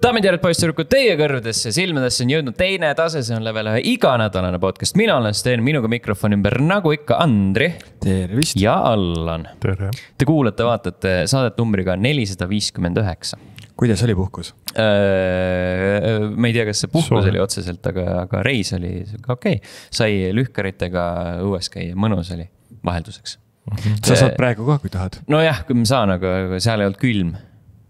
Daamid ja poisssüdrukud, teie kõrvadesse, silmadesse on jõudnud teine tase, see on level 1 iganädalane podcast. Mina olen Sten, minuga mikrofon ümber, nagu ikka Andri. Tervist. Ja Allan. Tere. Te kuulate, vaatate saadet numbriga 459. Kuidas oli puhkus? Me ei tea, kas see puhkus oli otseselt, aga reis oli okei. Sai lühkaritega õues käia, mõnus oli vahelduseks. Sa saad praegu ka, kui tahad. No jah, kui ma saan, aga seal ei olnud külm.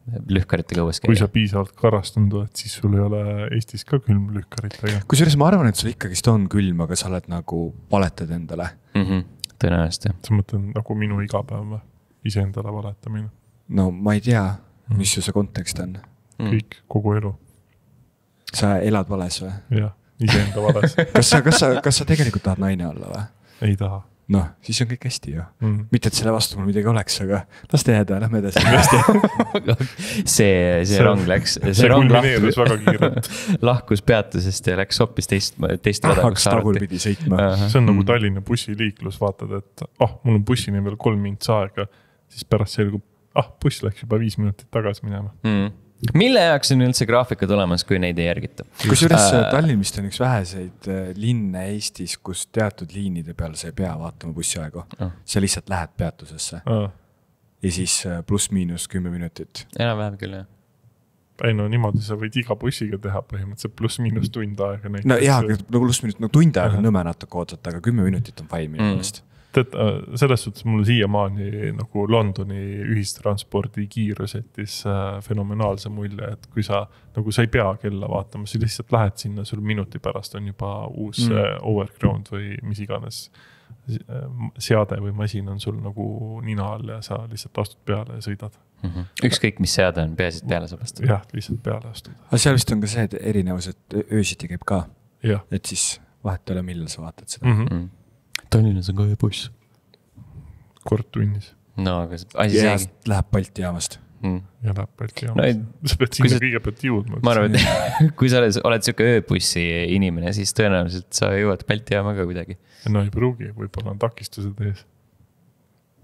Lühkaritega õues käia. Kui sa piisavalt karastunud oled, siis sul ei ole Eestis ka külm lühkaritega. Kusjuures ma arvan, et sul ikkagist on külm, aga sa oled nagu valetad endale. Tõenäoliselt, jah. Sa mõtlen nagu minu igapäev ise endale valetamine. No ma ei tea, mis ju see kontekst on. Kõik, kogu elu. Sa elad vales või? Jah, ise enda vales. Kas sa tegelikult tahad naine olla või? Ei taha. Noh, siis on kõik hästi ju. Mitte, et selle vastu mul midagi oleks, aga las teada, lähme edasi. see rong läks. See kulmineerus väga kiirelt. Lahkus peatusest ja läks hoopis teist rada. Hakkas tagurpidi sõitma. See on nagu Tallinna bussiliiklus, vaatad, et mul on bussini veel 3 minutit aega, siis pärast selgub, buss läks juba 5 minutit tagasi minema. Mille jaoks on üldse graafikad olemas, kui neid ei järgita? Kusjuures Tallinn vist on üks väheseid linne Eestis, kus teatud liinide peal sa ei pea vaatama bussiaegu. Sa lihtsalt lähed peatusesse. Ja siis pluss-miinus 10 minutit. Enam-vähem küll, jah. Ei no niimoodi sa võid iga bussiga teha põhimõtteliselt pluss-miinus tund aega. No jah, pluss-miinus tund aega on nõme natuke oodata, aga 10 minutit on fine minu meelest. Selles suhtes mul siiamaani nagu Londoni ühistranspordi kiirus jättis fenomenaalse mulje, et kui sa ei pea kella vaatama, sa lihtsalt lähed sinna, sul minuti pärast on juba uus overground või mis iganes seade või masin on sul nagu nina all ja sa lihtsalt astud peale ja sõidad. Ükskõik mis seade on, peasid peale saab astuda. Jah, lihtsalt peale astuda. Aga seal vist on ka see erinevus, et öösiti käib ka. Ja. Et siis vahet ole, millal sa vaatad seda. Tallinnas on ka ööbuss. Kord tunnis. No, aga asi seegi. Läheb Balti jaamast. Ja läheb Balti jaamast. Sa pead sinna kõigepealt jõudma. Ma arvan, et kui sa oled siuke ööbussi inimene, siis tõenäoliselt sa jõuad Balti jaama ka kuidagi. No ei pruugi, võib-olla on takistused ees.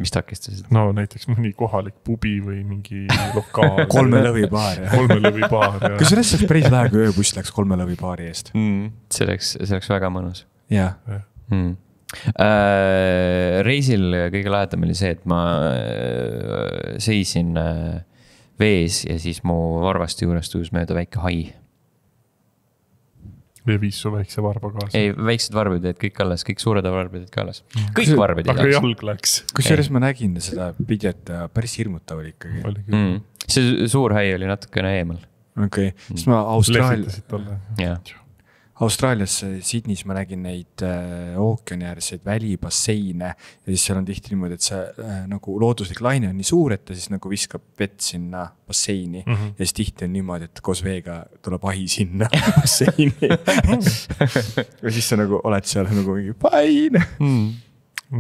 Mis takistused? No näiteks mõni kohalik pubi või mingi lokaal. 3 lõvipaar. 3 lõvipaar. Kas sellest oleks päris vähe, kui ööbuss läks 3 lõvipaari eest? See oleks väga mõnus. Jah. Reisil kõige lahedam oli see, et ma seisin vees ja siis mu varvasti juurest uus mööda väike hai. Või viis su väikse varba kaasa? Ei, väiksed varbid jäid kõik alles, kõik suured varbid jäid ka alles. Kõik varbid jäid. Aga jalg läks. Kusjuures ma nägin seda videot ja päris hirmutav oli ikkagi. See suur hai oli natukene eemal. Okei, siis ma Austraalias, Sydneys ma nägin neid ookeaniäärseid välibasseine ja siis seal on tihti niimoodi, et see nagu looduslik laine on nii suur, et ta siis nagu viskab vett sinna basseini ja siis tihti on niimoodi, et koos veega tuleb ahi sinna basseini ja siis sa nagu oled seal nagu mingi fine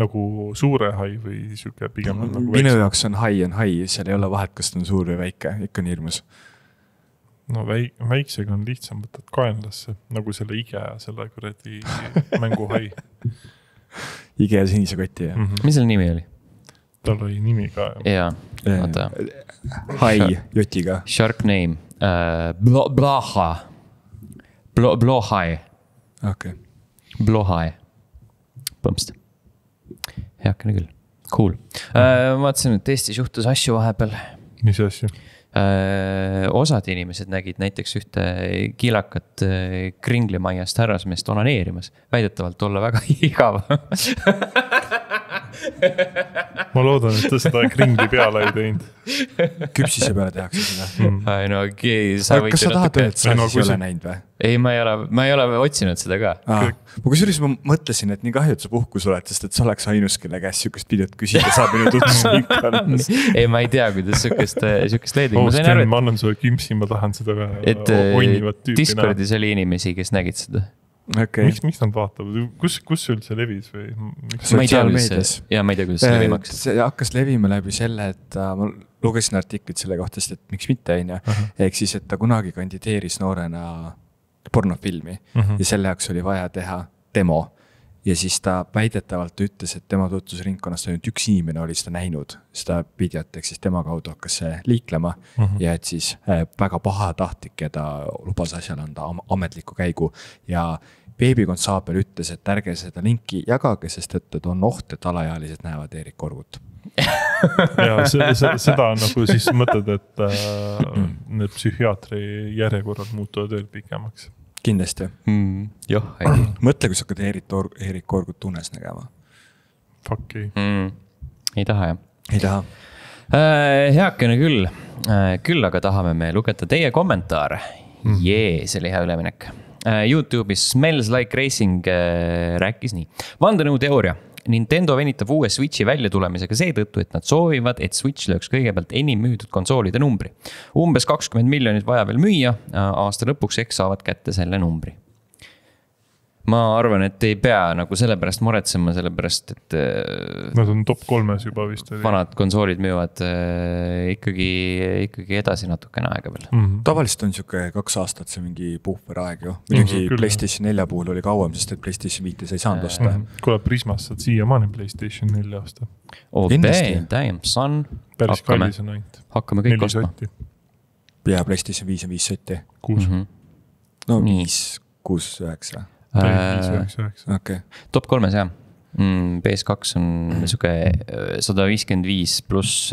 nagu suure hai või siuke pigem nagu minu jaoks on hai, seal ei ole vahet, kas ta on suur või väike, ikka on hirmus. No väiksega on lihtsam võtad kaenlasse, nagu selle ige ja selle kuradi mänguhai. Ige ja sinise kotti, jah? Mis selle nimi oli? Tal oli nimi ka. Jaa, vaata. Hai, jotiga. Shark name. Blaha. Blohai. Okei. Blohai. Põmst. Heakene küll. Cool. Vaatasin, et Eestis juhtus asju vahepeal. Mis asju? Osad inimesed nägid näiteks ühte kilakat kringlimaiast härrasmeest onaneerimas. Väidetavalt olla väga igav. Ma loodan, et ta seda kringli peale ei teinud. Küpsise peale tehakse seda. No, kas sa tahad öelda, et sa ei ole näinud või? Ei, ma ei ole otsinud seda ka. Kusjuures ma mõtlesin, et nii kahju, et sa puhkus oled, sest et sa oleks ainus, kelle käest siukest videot küsida saab minu tutvus. Ei, ma ei tea, kuidas siukest leedi. Ma annan sulle küpsi, ma tahan seda oinivat tüüpi. Discordis oli inimesi, kes nägid seda. Okay. Miks nad vaatavad? Kus üldse levis? Või? Ma ei tea, kuidas see levimaks. See hakkas levima läbi selle, et ma lugesin artiklit selle kohta, et miks mitte on. Ehk siis, et ta kunagi kandideeris noorena pornofilmi ja selle jaoks oli vaja teha demo. ja siis ta väidetavalt ütles, et tema tutvusringkonnast ainult üks inimene oli seda näinud, seda videot, ehk siis tema kaudu hakkas see liiklema ja et siis väga pahatahtlik ja ta lubas asjale anda ametliku käigu ja beebikonstaabel ütles, et ärge seda linki jagage, sest et on oht, et alaealised näevad Erik Korgut. ja seda nagu siis mõtled, et need psühhiaatri järjekorrad muutuvad veel pikemaks. Kindlasti. Joh, mõtle, kui sa hakkad Erik Korgut tunnes nägema. Fuck ei. Ei taha, jah? Ei taha. Heakene küll. Küll aga tahame me lugeda teie kommentaare. See oli hea üleminek. YouTube'is Smells Like Racing rääkis nii. Vandenõu teooria. Nintendo venitab uue Switchi välja tulemisega seetõttu, et nad soovivad, et Switch lööks kõigepealt enim müüdud konsoolide numbri. Umbes 20 miljonit vaja veel müüa, aasta lõpuks eks saavad kätte selle numbri. Ma arvan, et ei pea nagu selle pärast muretsema, selle pärast, et nad on top 3 juba vist. Vanad konsoolid müüvad ikkagi edasi natukene aega veel. Tavaliselt on siuke 2 aastat see mingi puhver aeg ju. Muidugi PlayStation 4 puhul oli kauem, sest et PlayStation 5 sa ei saanud osta. Kuule, Prismast saad siiamaani PlayStation 4 osta. Damn, son. Päris kallis on ainult. Hakkame kõik ostma. Ja PlayStation 5 on 5 sotti. 6. No 5, 6, 9. Okay. Top 3 jah. PS2 on suke 155 pluss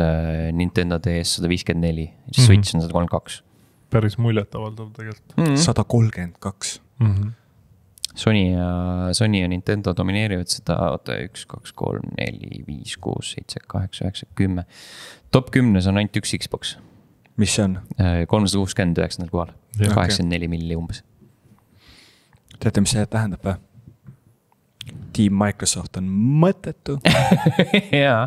Nintendo DS 154. Switch on 132. Päris muljetavaldav tegelikult. 132. Sony ja Nintendo domineerivad seda 1, 2, 3, 4, 5, 6, 7, 8, 9, 10. Top 10 on ainult üks Xbox. Mis see on? 369 kohal. 84 milli umbes. Teate, mis see tähendab või? Team Microsoft on mõttetu. Jaa.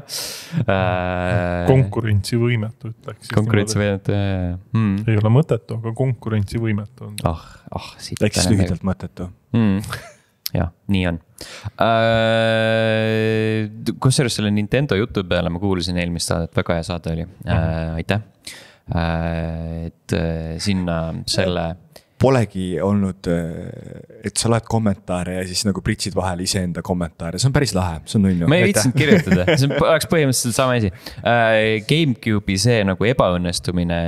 Konkurentsivõimetu ütleks. Konkurentsivõimetu. Ei ole mõttetu, aga konkurentsivõimetu on. Läks lühidalt mõttetu. Jah, nii on. Kusjuures selle Nintendo jutu peale ma kuulasin eelmist saadet, väga hea saade oli. Aitäh. Et sinna selle... Polegi olnud, et sa loed kommentaare ja siis nagu pritsid vahel iseenda kommentaare. See on päris lahe, see on nunnu. Ma ei viitsinud kirjutada, see oleks põhimõtteliselt sama asi. Gamecube'i see nagu ebaõnnestumine,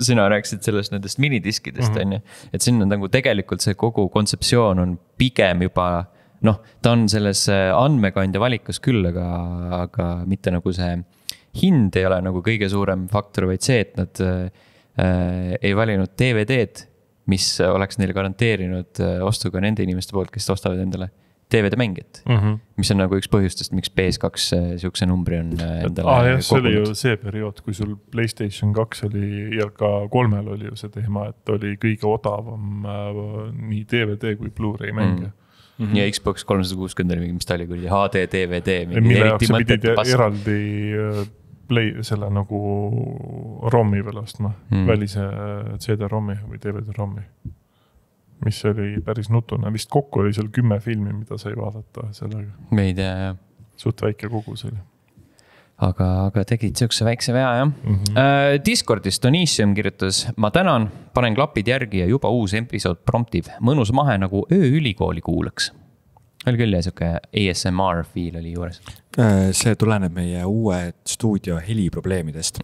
sina rääkisid sellest nendest minidiskidest, on ju. Et siin on nagu tegelikult see kogu kontseptsioon on pigem juba, ta on selles andmekandja valikus küll, aga mitte nagu see hind ei ole nagu kõige suurem faktor, vaid see, et nad ei valinud DVD-d, mis oleks neile garanteerinud ostuga nende inimeste poolt, kes ostavad endale DVD-mängijat. Mis on nagu üks põhjustest, miks PS2 siukse numbri on endale see oli ju see periood, kui sul PlayStation 2 oli ja ka 3 oli ju see teema, et oli kõige odavam nii DVD kui Blu-ray mänge. Ja Xbox 360 oli mingi, mis ta oli küll, HD, DVD. Mille jaoks sa pidid eraldi selle nagu ROM-i veel ostma, välise CD-ROM-i või DVD-ROM-i, mis oli päris nutune. Vist kokku oli seal 10 filmi, mida sai vaadata sellega. Me ei tea, jah. Suht väike kogus oli. Aga tegid siukse väikse vea, jah. Discordis Donisium kirjutas, ma tänan, panen klapid järgi ja juba uus episood promptiv. Mõnus mahe nagu ööülikooli kuulaks. Oli küll ja siuke ASMR feel oli juures. See tuleneb meie uue stuudio heliprobleemidest.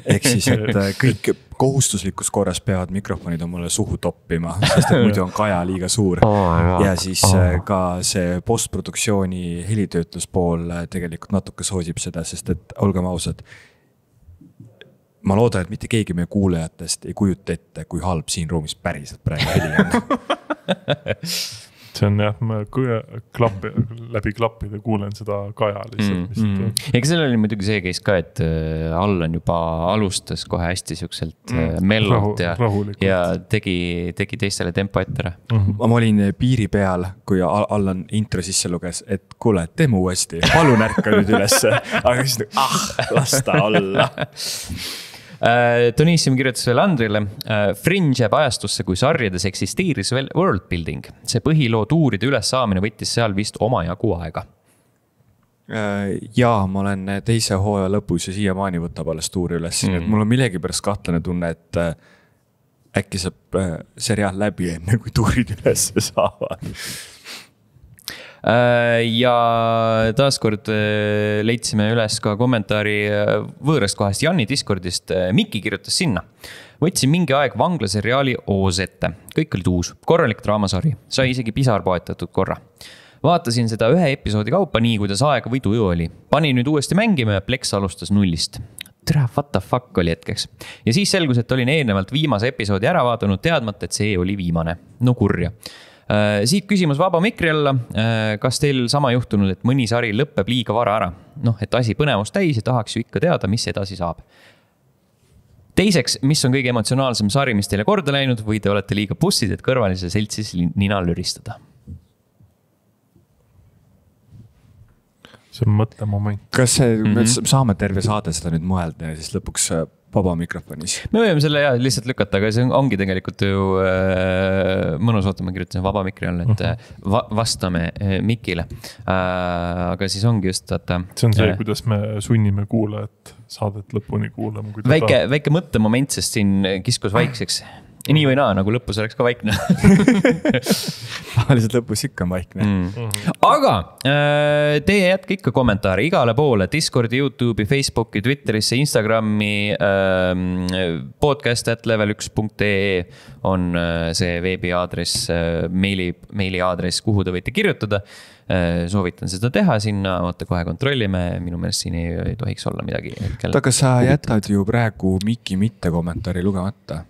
Ehk siis, et kõik kohustuslikus korras peavad mikrofonid on mulle suhu toppima, sest et muidu on kaja liiga suur. Ja siis ka see postproduktsiooni helitöötluspool tegelikult natuke soosib seda, sest et olgem ausad, ma loodan, et mitte keegi meie kuulajatest ei kujuta ette, kui halb siin ruumis päriselt praegu heli on. See on jah, ma läbi klappide kuulen seda kaja lihtsalt. Ega seal oli muidugi see case ka, et Allan juba alustas kohe hästi siukselt mellot ja tegi teistele tempo ette. Ma olin piiri peal, kui Allan intro sisse luges, et kuule, teeme uuesti, palun ärka nüüd ülesse. Aga siis lasta olla. Donisium kirjutas veel Andrile, Fringe jääb ajastusse, kui sarjades eksisteeris veel world building. See põhiloo tuuride üles saamine võttis seal vist oma jagu aega. Jaa, ma olen teise hooaja lõpus ja siiamaani võtab alles tuuri üles. Mul on millegi pärast kahtlane tunne, et äkki saab seriaal läbi enne, kui tuurid üles saavad. Ja taaskord leidsime üles ka kommentaari võõrast kohast Janni Discordist. Mikki kirjutas sinna. Võtsin mingi aeg vanglaseriaali Oos ette. Kõik olid uus. Korralik draamasari. Sai isegi pisar poetatud korra. Vaatasin seda ühe episoodi kaupa nii, kuidas aega või tuju oli. Panin nüüd uuesti mängima ja Plex alustas nullist. Tere, what the fuck oli hetkeks. Ja siis selgus, et olin eelnevalt viimase episoodi ära vaadanud teadmata, et see oli viimane. No kurja. Siit küsimus vaba mikri alla. Kas teil sama juhtunud, et mõni sari lõppeb liiga vara ära? Et asi põnevust täis ja tahaks ju ikka teada, mis edasi saab. Teiseks, mis on kõige emotsionaalsem sari, mis teile korda läinud või te olete liiga bussid, et kõrvalise seltsis nina lüristada? See on mõtlemoment. Kas me saame terve saade seda nüüd mõelda ja siis lõpuks vaba mikrofonis? Me võime selle lihtsalt lükata, aga see ongi tegelikult ju mõnus oota, ma kirjutasin vaba mikri all, et vastame Mikile. Aga siis ongi just, et see on see, kuidas me sunnime kuulajat saadet lõpuni kuulama. Väike mõttemoment, sest siin kiskus vaikseks. Nii või naa, nagu lõpus oleks ka vaikne. Lihtsalt lõpus ikka on vaikne. Aga teie jätke ikka kommentaare igale poole. Discordi, YouTube'i, Facebooki, Twitterisse, Instagrami, podcast@level1.ee on see veebiaadress, meili aadress, kuhu te võite kirjutada. Soovitan seda teha sinna, oota kohe kontrollime, minu meelest siin ei tohiks olla midagi. Aga sa jätad ju praegu Miki mitte kommentaari lugemata.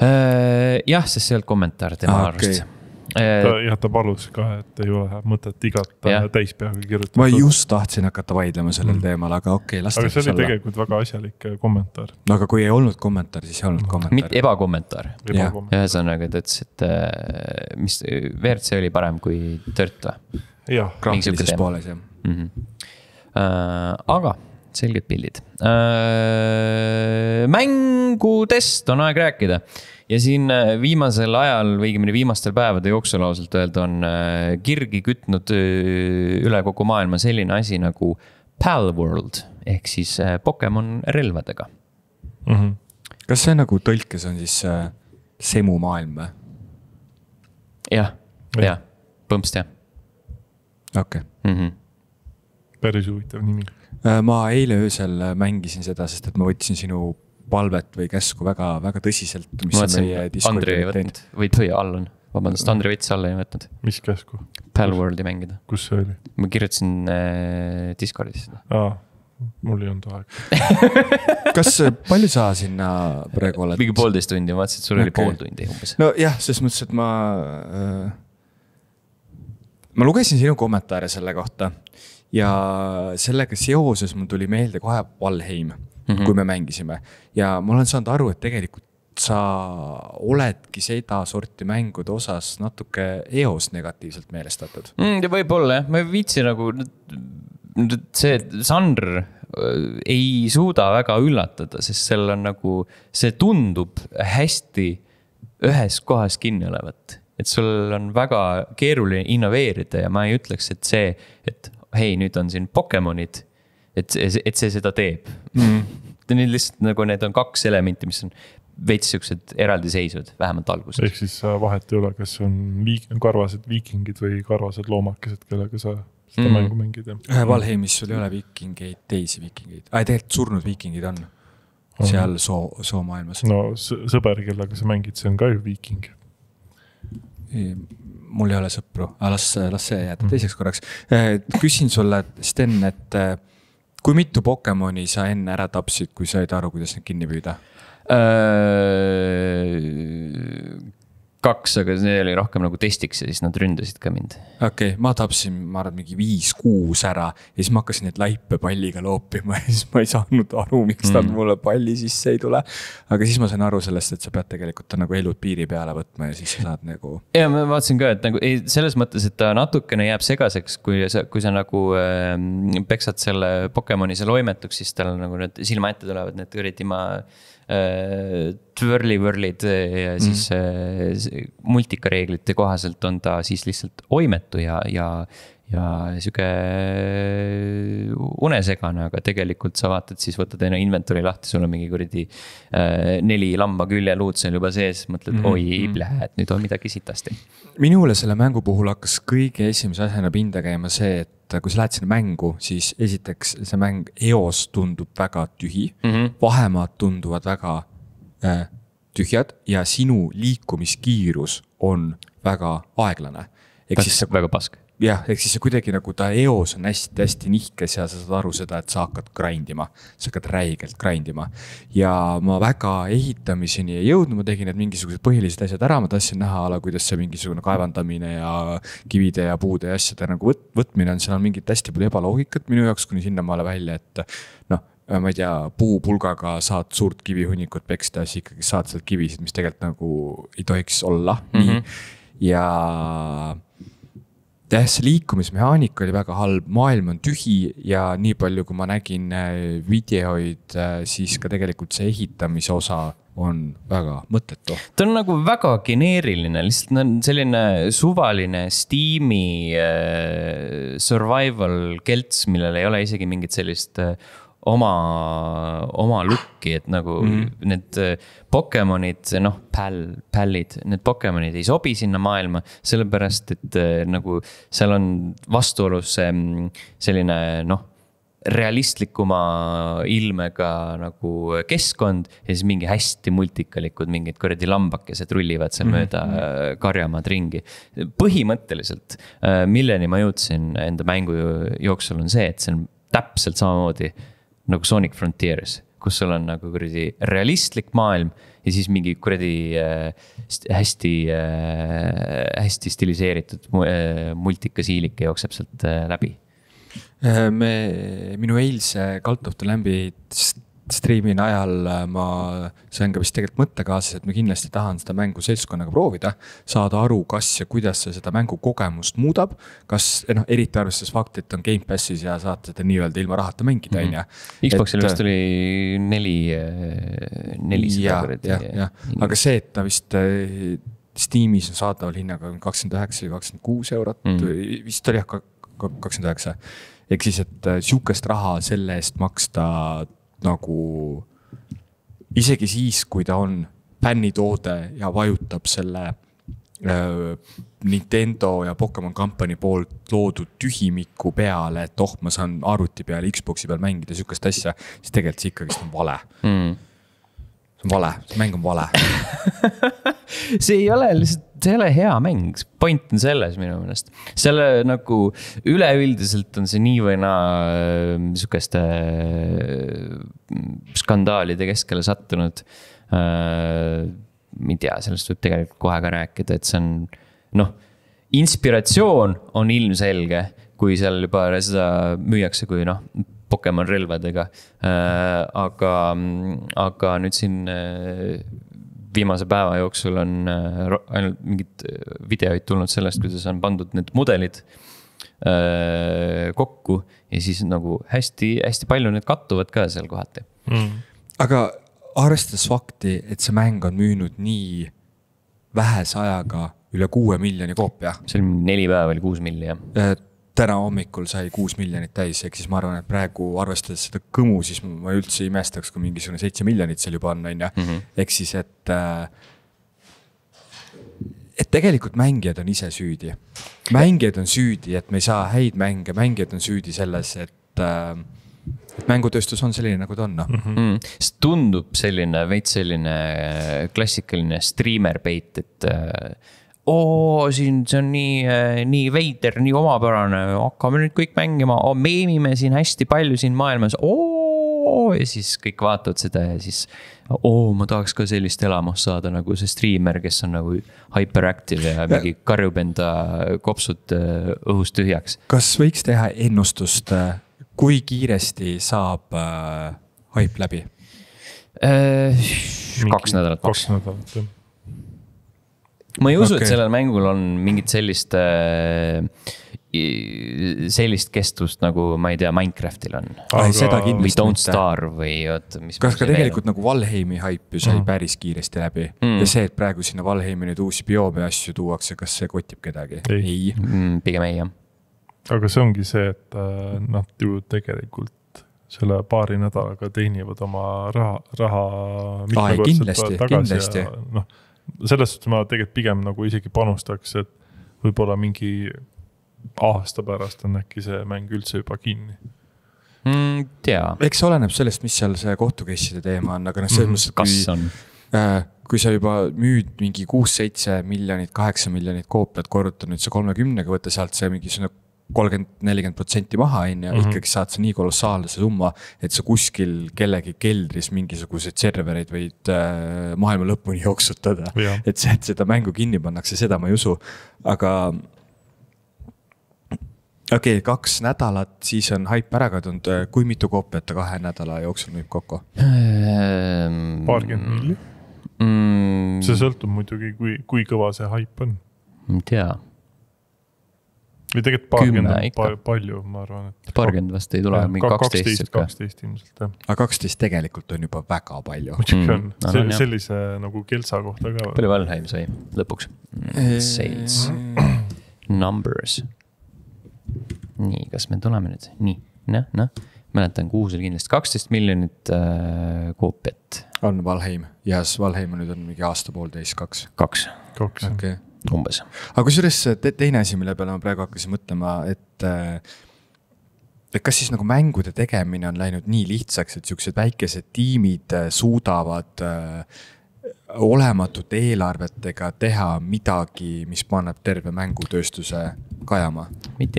Jah, sest see on kommentaar tema arvust. Ja ta palus ka, et ei ole mõtet igat täispeaga kirjutada. Ma just tahtsin hakata vaidlema sellel teemal, aga okei, las aga see oli tegelikult väga asjalik kommentaar. No aga kui ei olnud kommentaar, siis ei olnud kommentaar. Mitte ebakommentaar. Ühesõnaga, ta ütles, et mis WRC oli parem kui Tört või? Jah. Graafilises pooles, jah. Aga selged pildid. Mängudest on aeg rääkida. Ja siin viimasel ajal või viimastel päevade jooksul ausalt öelda on kirgi kütnud üle kogu maailma selline asi nagu Palworld ehk siis Pokemon relvadega. Kas see nagu tõlkes on siis semu maailm või? Jah, põmpst jah. Okei. Päris huvitav nimi. Ma eile öösel mängisin seda, sest et ma võtsin sinu palvet või käsku väga, väga tõsiselt. Ma võtsin, Andri ei võtnud, või Allan. Vabandust, Andri võttis alla ei võtnud. Mis käsku? Palworldi mängida. Kus see oli? Ma kirjutasin Discordis seda. Mul ei olnud aeg. Kas palju sa sinna praegu oled? Mingi 1,5 tundi, ma vaatasin, et sul oli 0,5 tundi umbes. No jah, selles mõttes, et ma lugesin sinu kommentaare selle kohta ja sellega seoses mul tuli meelde kohe Valheim, kui me mängisime. Ja ma olen saanud aru, et tegelikult sa oledki seda sorti mängude osas natuke eos negatiivselt meelestatud. Võib-olla jah, ma viitsi nagu see žanr ei suuda väga üllatada, sest seal on nagu, see tundub hästi ühes kohas kinni olevat. Et sul on väga keeruline innoveerida ja ma ei ütleks, et see, et hei, nüüd on siin Pokemonid, et see seda teeb. Need lihtsalt nagu need on 2 elementi, mis on veits siuksed eraldiseisvad, vähemalt alguses. Ehk siis vahet ei ole, kas on karvased viikingid või karvased loomakesed, kellega sa seda mängu mängid. Valheimis sul ei ole viikingeid, teisi viikingeid. Tegelikult surnud viikingid on seal soo maailmas. No sõber, kellega sa mängid, see on ka ju viiking. Mul ei ole sõpru, las see jääda teiseks korraks. Küsin sulle, Sten, et kui mitu Pokemoni sa enne ära tapsid, kui sa ei aru, kuidas need kinni püüda? 2, aga see oli rohkem nagu testiks ja siis nad ründasid ka mind. Okei, ma tapsin, ma arvan, mingi 5-6 ära ja siis ma hakkasin neid laipe palliga loopima ja siis ma ei saanud aru, miks nad mulle palli sisse ei tule. Aga siis ma sain aru sellest, et sa pead tegelikult nagu elud piiri peale võtma ja siis saad nagu... Ja ma vaatasin ka, et nagu, selles mõttes, et ta natukene jääb segaseks, kui sa nagu peksad selle Pokemoni seal oimetuks, siis tal nagu need silma ette tulevad, need üritima twirly-whirlid ja siis multikareeglite kohaselt on ta siis lihtsalt oimetu ja ja sihuke unesegane, aga tegelikult sa vaatad, siis võtad enne inventory lahti, sul on mingi kuradi 4 lamba küljeluud seal juba sees, mõtled, oi, et nüüd on midagi sitasti. Minule selle mängu puhul hakkas kõige esimese asjana pinda käima see, et kui sa lähed sinna mängu, siis esiteks see mäng eos tundub väga tühi, vahemaad tunduvad väga tühjad ja sinu liikumiskiirus on väga aeglane. Väga pask. Jah, ehk siis see kuidagi nagu ta eos on hästi nihkes ja sa saad aru seda, et sa hakkad grindima. Sa hakkad räigelt grindima. Ja ma väga ehitamiseni ei jõudnud, ma tegin need mingisugused põhilised asjad ära, ma tahtsin näha ala, kuidas see mingisugune kaevandamine ja kivide ja puude ja asjade nagu võtmine on, seal on mingit hästi palju ebaloogikat minu jaoks kuni sinnamaale välja, et noh, ma ei tea, puupulgaga saad suurt kivihunnikut peksta, siis ikkagi saad sealt kivisid, mis tegelikult nagu ei tohiks olla. Nii. Ja see liikumismehaanika oli väga halb, maailm on tühi ja nii palju, kui ma nägin videoid, siis ka tegelikult see ehitamise osa on väga mõttetu. Ta on nagu väga geneeriline, lihtsalt on selline suvaline Steam'i survival kelts, millel ei ole isegi mingit sellist oma looki, et nagu need Pokemonid, noh, pällid, need Pokemonid ei sobi sinna maailma, sellepärast, et nagu seal on vastuolus selline, noh, realistlikuma ilmega nagu keskkond ja siis mingi hästi multikalikud mingid kuradi lambakesed rullivad seal mööda karjamaad ringi. Põhimõtteliselt, milleni ma jõudsin enda mängu jooksul on see, et see on täpselt samamoodi nagu Sonic Frontiers, kus sul on nagu kuradi realistlik maailm ja siis mingi kuradi hästi stiliseeritud multikasiilike jookseb sealt läbi. Minu eilse Cult of the Lambi striimin ajal ma sain ka vist tegelikult mõttekaasas, et ma kindlasti tahan seda mängu seltskonnaga proovida, saada aru, kas ja kuidas see seda mängu kogemust muudab, kas, eriti arvestades fakti, et on Game Passis ja saad seda nii-öelda ilma rahata mängida, on ja. Xboxil vist oli 400. Ja. Aga see, et ta vist Steamis on saadaval hinnaga 29 või 26 eurot, vist oli 29. Ehk siis, et siukest raha selle eest maksta nagu isegi siis, kui ta on fännitoode ja vajutab selle Nintendo ja Pokemon Company poolt loodud tühimiku peale, et ma saan arvuti peale, Xboxi peal mängida siukest asja, siis tegelikult see ikkagi on vale. See on vale, see mäng on vale. See ei ole lihtsalt, see ei ole hea mäng, point on selles minu meelest. Selle nagu üleüldiselt on see nii või niisugeste skandaalide keskele sattunud. Ei tea, sellest võib tegelikult kohe ka rääkida, et see on, noh, inspiratsioon on ilmselge, kui seal juba seda müüakse kui, noh, Pokemon relvadega. Aga nüüd siin viimase päeva jooksul on ainult mingid videoid tulnud sellest, kuidas on pandud need mudelid kokku ja siis nagu hästi palju need kattuvad ka seal kohati. Aga arvestades fakti, et see mäng on müünud nii vähese ajaga üle 6 miljoni koopia. See oli 4 päeva või 6 miljonit. Täna hommikul sai 6 miljonit täis, ehk siis ma arvan, et praegu arvestades seda kõmu, siis ma üldse imestaks, kui mingisugune 7 miljonit seal juba on, ja. Ehk siis, et tegelikult mängijad on ise süüdi. Mängijad on süüdi, et me ei saa häid mänge, mängijad on süüdi selles, et mängutööstus on selline, nagu ta on. See tundub selline, veits selline klassikaline streamer-bait, et siin see on nii veider, nii omapärane, hakkame nüüd kõik mängima, meemime siin hästi palju siin maailmas, ja siis kõik vaatavad seda ja siis ma tahaks ka sellist elamust saada nagu see streamer, kes on nagu hyperactive ja mingi karjub enda kopsud õhust tühjaks. Kas võiks teha ennustust, kui kiiresti saab hype läbi? 2 nädalat. 2 nädalat, jah. Ma ei usu, et sellel mängul on mingit sellist kestust nagu, ma ei tea, Minecraftil on. Või Don't Starve või kas ka tegelikult nagu Valheimi hype ju sai päris kiiresti läbi. Ja see, et praegu sinna Valheimi nüüd uusi bioome asju tuuakse, kas see kotib kedagi? Ei. Pigem ei, jah. aga see ongi see, et nad ju tegelikult selle paari nädalaga teenivad oma raha mitmekordselt tagasi ja noh, selles suhtes ma tegelikult pigem nagu isegi panustaks, et võib-olla mingi aasta pärast on äkki see mäng üldse juba kinni. Eks oleneb sellest, mis seal see kohtukeisside teema on, aga selles mõttes, kui sa juba müüd mingi 6-7 miljonit, 8 miljonit koopiat, korruta nüüd see 30-ga, võtta sealt see mingi 30-40% maha ikkagi saad sa nii kolossaalne see summa, et sa kuskil kellegi keldris mingisugused servereid võid maailma lõpuni jooksutada. Et seda mängu kinni pannakse, seda ma ei usu. Aga okei, 2 nädalat, siis on haip ära kadunud. Kui mitu koopiat 2 nädala jooksul müüb kokku? 20 milli. See sõltub muidugi, kui kõva see haip on. Ei tea. Või tegelikult 20 on palju, ma arvan. Et 20 vast ei tule, mingi 12. 12 ilmselt, jah. Aga 12 tegelikult on juba väga palju. Muidugi on. Sellise nagu kelsa kohta ka. Palju Valheim sai lõpuks? Sales. Numbers. Nii, kas me tuleme nüüd? Nii, mäletan, kuus oli kindlasti 12 miljonit koopiat. On Valheim. Yes, Valheim nüüd on mingi aasta-poolteist, 2. 2. Okay. Umbes. Aga kusjuures teine asi, mille peale ma praegu hakkasin mõtlema, et kas siis nagu mängude tegemine on läinud nii lihtsaks, et siuksed väikesed tiimid suudavad olematute eelarvetega teha midagi, mis paneb terve mängutööstuse kajama.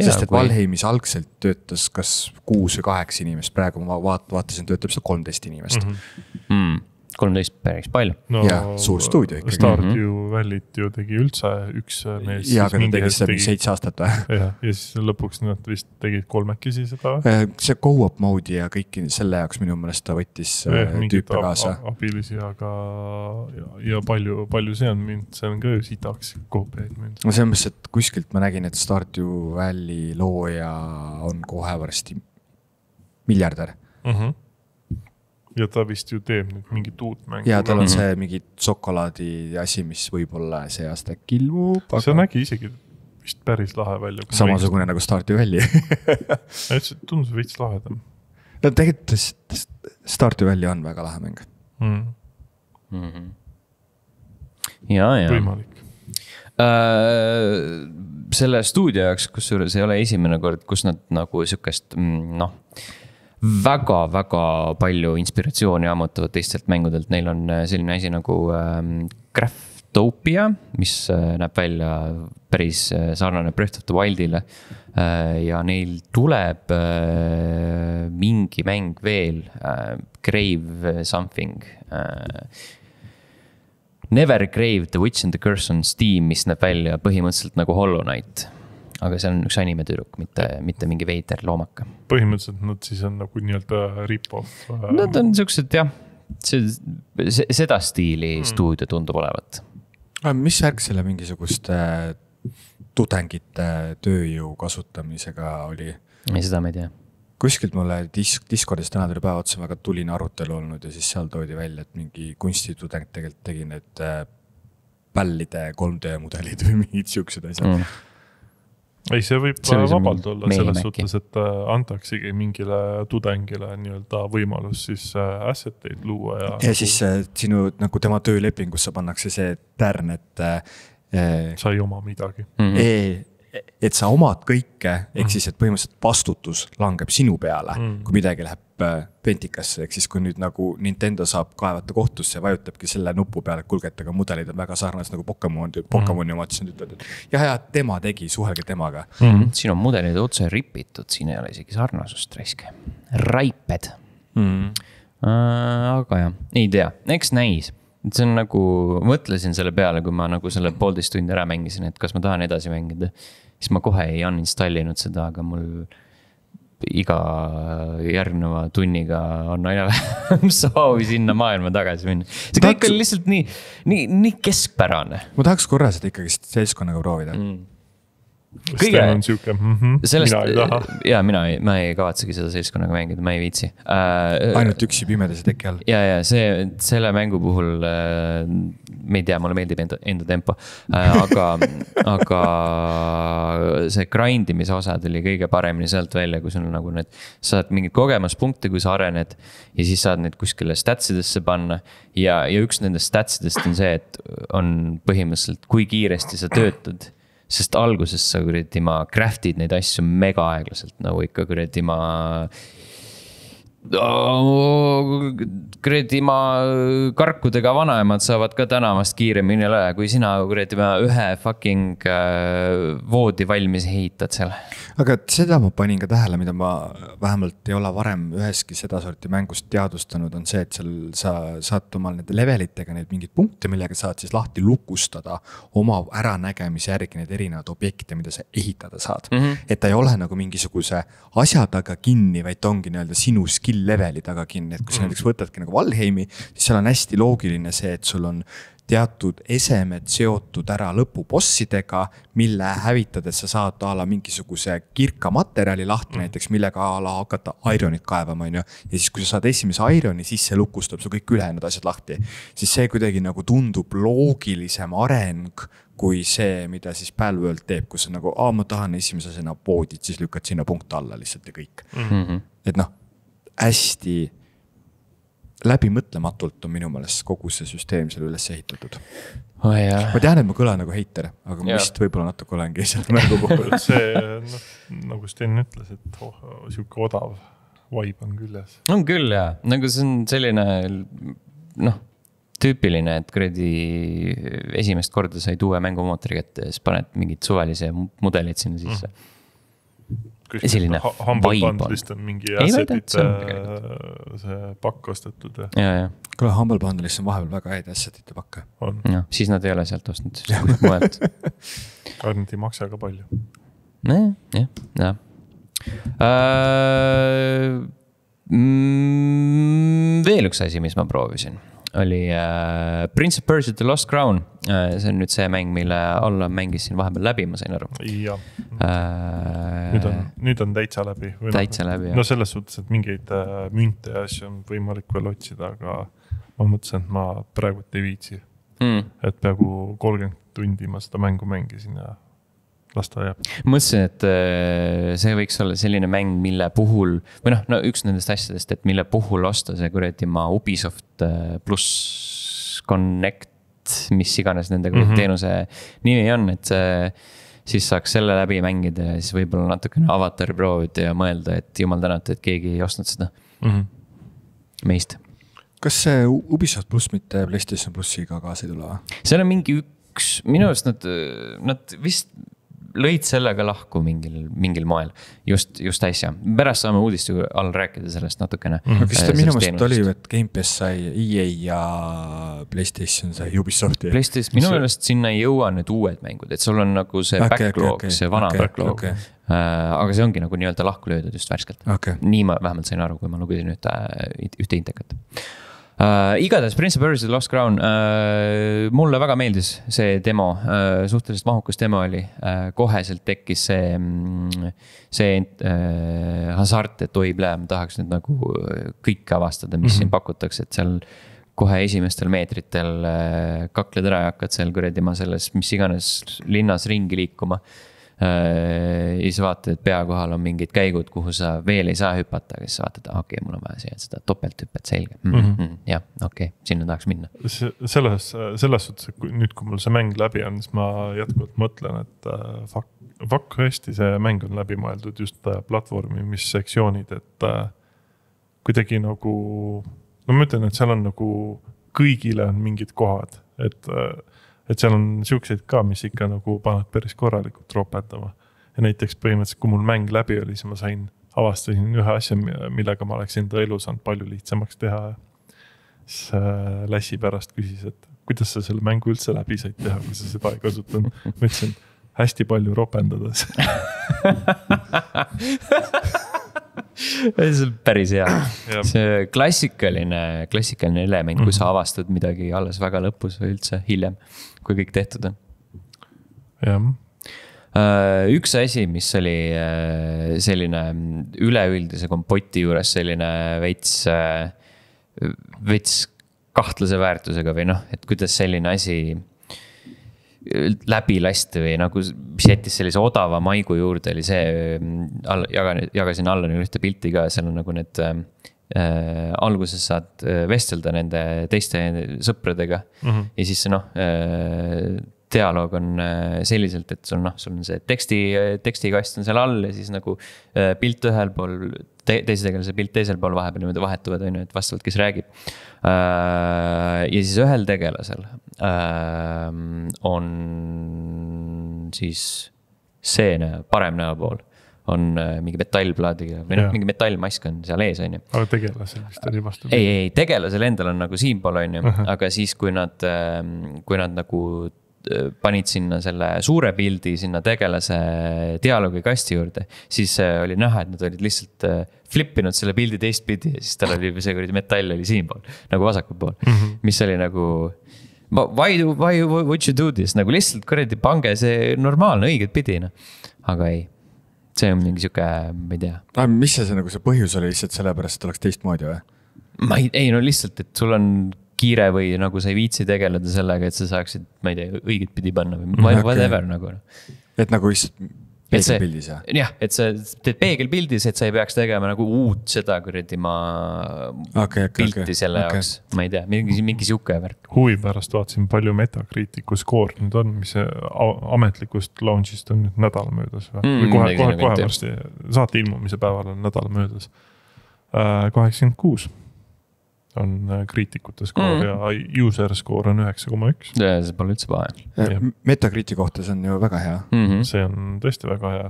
Sest et Valheimis algselt töötas kas 6 või 8 inimest, praegu ma vaatasin, töötab seda 13 inimest. 13 päris palju. No, ja suur stuudio ikkagi. Stardew Valley't ju tegi üldse üks mees. Ja, aga ta tegi seda 7 aastat või? Ja siis lõpuks nad vist tegid 3 seda. See go-up mode'i ja kõiki selle jaoks minu mõelest ta võttis tüüpe kaasa. Abilisi, aga ja palju see on mind, see on ka ju sitaks koopiaid mind. Ma selles mõttes, et kuskilt ma nägin, et Stardew Valley looja on kohe varsti miljardär. Ja ta vist ju teeb nüüd mingit uut mängu. Ja tal on see mingi šokolaadi asi, mis võib-olla see aasta kilmub. Aga... See nägi isegi vist päris lahe välja. Samasugune nagu Stardew Valley. Tundus veits lahedam. No tegelikult Stardew Valley on väga lahe mäng. Ja. Võimalik. Selle stuudio jaoks, kus ei ole esimene kord, kus nad nagu sükest, väga palju inspiratsiooni ammutavad teistelt mängudelt. Neil on selline asi nagu Craftopia, mis näeb välja päris sarnane Breath of the Wildile. Ja neil tuleb mingi mäng veel, Grave something. Never Grave, The Witch and the Curse on Steam, mis näeb välja põhimõtteliselt nagu Hollow Knight. Aga see on üks animetüdruk, mitte mingi veider loomaka. Põhimõtteliselt nad siis on nagu nii-öelda rip-off. Nad on sellised, jah, seda stiili stuudio tundub olevat. Mis värk selle mingisuguste tudengite tööjõu kasutamisega oli? Ei, seda ma ei tea. Kuskilt mulle Discordis täna tuli päeva otsa väga tuline arutelu olnud ja siis seal toodi välja, et mingi kunstitudeng tegelikult tegi need pällide 3D mudelid või mingid siuksed asjad. Ei, see võib vabalt olla selles suhtes, et antaksigi mingile tudengile nii-öelda võimalus siis asseteid luua. Ja siis sinu nagu tema töölepingus sa pannakse see tärn, et sa ei oma midagi. Et sa omad kõike, ehk siis, et põhimõtteliselt vastutus langeb sinu peale, kui midagi läheb pentikasse, ehk siis kui nüüd nagu Nintendo saab kaevata kohtusse ja vajutabki selle nupu peale, et kulgeta, aga mudelid on väga sarnased nagu Pokemoni omad, siis ütled, et ja tema tegi, suhelge temaga. Siin on mudelid otse ripitud, siin ei ole isegi sarnasust raiske. Raiped. Aga jah, ei tea, eks näis. See on nagu, mõtlesin selle peale, kui ma nagu selle 1,5 tundi ära mängisin, et kas ma tahan edasi mängida. Siis ma kohe ei uninstallinud seda, aga mul iga järgneva tunniga on aina vähem soovi sinna maailma tagasi minna. See kõik on lihtsalt nii keskpärane. Ma tahaks korra seda ikkagi seltskonnaga proovida. Kõige on siuke, sellest, mina ei taha. Ja ma ei kavatsegi seda seltskonnaga mängida, ma ei viitsi. Ainult üksi pimedas teki all. Ja selle mängu puhul me ei tea, mulle meeldib enda tempo, aga see grindimise osad oli kõige paremini sealt välja, kui sul nagu need, saad mingid kogemuspunkte, kui sa arened ja siis saad neid kuskile statsidesse panna ja üks nendest statsidest on see, et on põhimõtteliselt, kui kiiresti sa töötad, sest alguses sa kuradi ma craftid neid asju mega aeglaselt, nagu ikka kuradi ma kuradi ma karkudega vanaemad saavad ka tänavast kiiremini üle, kui sina kuradi ma ühe fucking voodi valmis ehitad seal. Aga seda ma panin ka tähele, mida ma vähemalt ei ole varem üheski seda sorti mängust teadvustanud, on see, et seal sa saad omal nende levelitega neid mingid punkte, millega saad siis lahti lukustada oma äranägemise järgi neid erinevad objekte, mida sa ehitada saad. Et ta ei ole nagu mingisuguse asja taga kinni, vaid ongi nii-öelda sinu skill leveli taga kinni, et kui sa näiteks võtadki nagu Valheimi, siis seal on hästi loogiline see, et sul on teatud esemed seotud ära lõpubossidega, mille hävitades sa saad ala mingisuguse kirka materjali lahti näiteks, millega ala hakata ironit kaevama, ja siis kui sa saad esimese ironi, siis see lukustab su kõik ülejäänud asjad lahti. Siis see kuidagi nagu tundub loogilisem areng kui see, mida siis Palworld teeb, kus on nagu, ma tahan esimese asjana poodid, siis lükkad sinna punkt alla lihtsalt ja kõik. Et noh, hästi läbimõtlematult on minu meelest kogu see süsteem selle üles ehitatud. Ma tean, et ma kõlan nagu heiter, aga ma vist võib-olla natuke olengi seal mängu puhul. See, nagu Sten ütles, et siuke odav vibe on küljes. On küll, jah. Nagu see on selline tüüpiline, et kuradi esimest korda sai tuue mängumootori kätte ja siis paned mingid suvalise mudelid sinna sisse. Selline Humble Bundle'ist on mingi assetite see pakk ostetud. Ja. Kuule, Humble Bundle'ist on vahepeal väga häid assetite pakke. Ja, siis nad ei ole sealt ostnud, siis mujalt. Nad ei maksa ka palju. Ja. Veel üks asi, mis ma proovisin, oli Prince of Persia The Lost Crown. See on nüüd see mäng, mille alla mängisin vahepeal läbi, ma sain aru. Ja. Nüüd on täitsa läbi. Täitsa läbi, jah. No selles suhtes, et mingeid münte ja asju on võimalik veel otsida, aga ma mõtlesin, et ma praegu ei viitsi. Et peaaegu 30 tundi ma seda mängu mängisin ja lasta jääb. Mõtlesin, et see võiks olla selline mäng, mille puhul, või üks nendest asjadest, et mille puhul osta see kuradi ma Ubisoft plus Connect, mis iganes nende teenuse nimi on, et siis saaks selle läbi mängida ja siis võib-olla natukene avatari proovida ja mõelda, et jumal tänata, et keegi ei ostnud seda meist. Kas see Ubisoft plus mitte PlayStation plussiga kaasa ei tule? See on mingi minu arust nad vist lõid sellega lahku mingil moel, just äsja. Pärast saame uudiste all rääkida sellest natukene. Kas ta minu meelest oli, et Game Pass sai EA ja PlayStation sai Ubisofti? PlayStation, minu meelest sinna ei jõua nüüd uued mängud, et sul on nagu see backlog, see vana backlog. Aga see ongi nagu nii-öelda lahku löödud just värskelt. Nii ma vähemalt sain aru, kui ma lugesin ühte intekat. Igatahes Prince of Persia Lost Crown mulle väga meeldis see demo, suhteliselt mahukas demo oli, koheselt tekkis see hasart, et ma tahaks nüüd nagu kõik avastada, mis siin pakutakse, et seal kohe esimestel meetritel kakled ära ja hakkad seal kuradi ma selles mis iganes linnas ringi liikuma. Ja siis vaatad, et pea kohal on mingid käigud, kuhu sa veel ei saa hüpata, aga siis vaatad, okei, mul on vaja seda topelthüppet selge. Ja, okei, sinna tahaks minna. Selles suhtes, et nüüd kui mul see mäng läbi on, siis ma jätkuvalt mõtlen, et fuck hästi see mäng on läbi mõeldud just platvormi, mis sektsioonid, et kuidagi nagu, ma ütlen, et seal on nagu kõigile on mingid kohad, et seal on siukseid ka, mis ikka nagu paned päris korralikult ropendama. Ja näiteks põhimõtteliselt, kui mul mäng läbi oli, siis ma avastasin ühe asja, millega ma oleks enda elu saanud palju lihtsamaks teha. Siis Lässi pärast küsis, et kuidas sa selle mängu üldse läbi said teha, kui sa seda ei kasutanud. Ma ütlesin, hästi palju ropendades. See on päris hea. See klassikaline element, kui sa avastad midagi alles väga lõpus või üldse hiljem, kui kõik tehtud on. Jah. Üks asi, mis oli selline üleüldise kompoti juures selline veits kahtlase väärtusega või noh, et kuidas selline asi läbi lasti või nagu mis jättis sellise odava maigu juurde oli see, jagasin Allanile ühte pilti ka, seal on nagu need alguses saad vestelda nende teiste sõpradega ja siis noh, dialoog on selliselt, et sul on see tekstikast on seal all ja siis nagu pilt ühel pool, teise tegelase pilt teisel pool vahepeal niimoodi vahetuvad, on ju, et vastavalt, kes räägib. Ja siis ühel tegelasel on siis see parem näopool on mingi metallplaadiga või mingi metallmask on seal ees, on ju. Aga tegelasel vist oli vastu? Ei, tegelasel endal on nagu siinpool, on ju, aga siis kui nad nagu panid sinna selle suure pildi sinna tegelase dialoogi kasti juurde, siis oli näha, et nad olid lihtsalt flippinud selle pildi teistpidi ja siis tal oli see metall oli siinpool, nagu vasakul pool, mis oli nagu why would you do this, nagu lihtsalt kuradi pange see normaalne õiget pidi, aga ei, see on mingi siuke, ma ei tea. Mis see nagu see põhjus oli lihtsalt sellepärast, et oleks teistmoodi või? Ei, no lihtsalt, et sul on kiire või nagu sa ei viitsi tegeleda sellega, et sa saaksid, ma ei tea, õiget pidi panna või whatever nagu. Et nagu lihtsalt peegelpildis, jah? Jah, et sa teed peegelpildis, et sa ei peaks tegema nagu uut seda kuradi pilti selle jaoks. Ma ei tea, mingi siuke värk. Huvi pärast vaatasin palju Metacriticu skoor nüüd on, mis ametlikust launchist on nüüd nädal möödas. Või kohe varsti saate ilmumise päeval on nädal möödas. 86 on kriitikute skoor ja user skoor on 9,1. See pole üldse pahe. Metacriticu kohta see on ju väga hea. See on tõesti väga hea.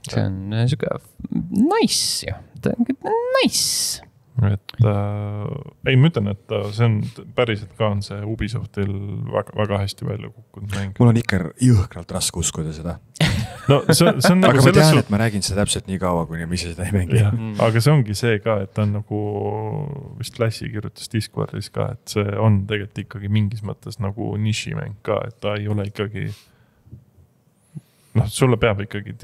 See on siuke nice ju. Nice. Et ei, ma ütlen, et see on päriselt ka on see Ubisoftil väga hästi välja kukkunud mäng. Mul on ikka jõhkralt raske uskuda seda. No, see on nagu aga ma tean, et ma räägin seda täpselt nii kaua, kuni ma ise seda ei mängi. Aga see ongi see ka, et ta on nagu vist Lassi kirjutas Discordis ka, et see on tegelikult ikkagi mingis mõttes nagu nišimäng ka, et ta ei ole ikkagi sulle peab ikkagi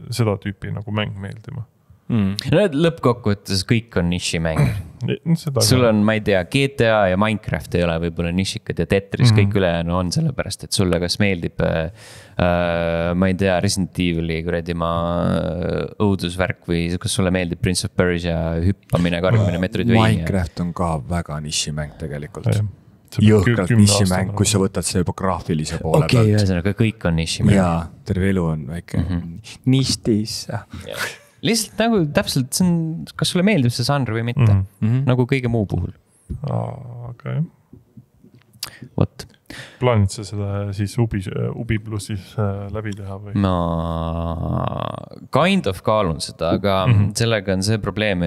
seda tüüpi nagu mäng meeldima. No lõppkokkuvõttes kõik on nišimäng. Sul on, ma ei tea, GTA ja Minecraft ei ole võib-olla nišikad ja Tetris kõik ülejäänu on sellepärast, et sulle kas meeldib, ma ei tea, Resident Evil'i kuradi õudusvärk või kas sulle meeldib Prince of Persia hüppamine, karmine, Metroidvania. Minecraft on ka väga nišimäng tegelikult. Jõhkralt nišimäng, kus sa võtad see juba graafilise poole pealt. Ühesõnaga kõik on nišimäng. Jaa, terve elu on väike ništis. Lihtsalt nagu täpselt, see on, kas sulle meeldib see žanr või mitte, nagu kõige muu puhul. Okay. What? Plaanid sa seda siis Ubi plussis läbi teha või? Ma kind of kaalun seda, aga sellega on see probleem,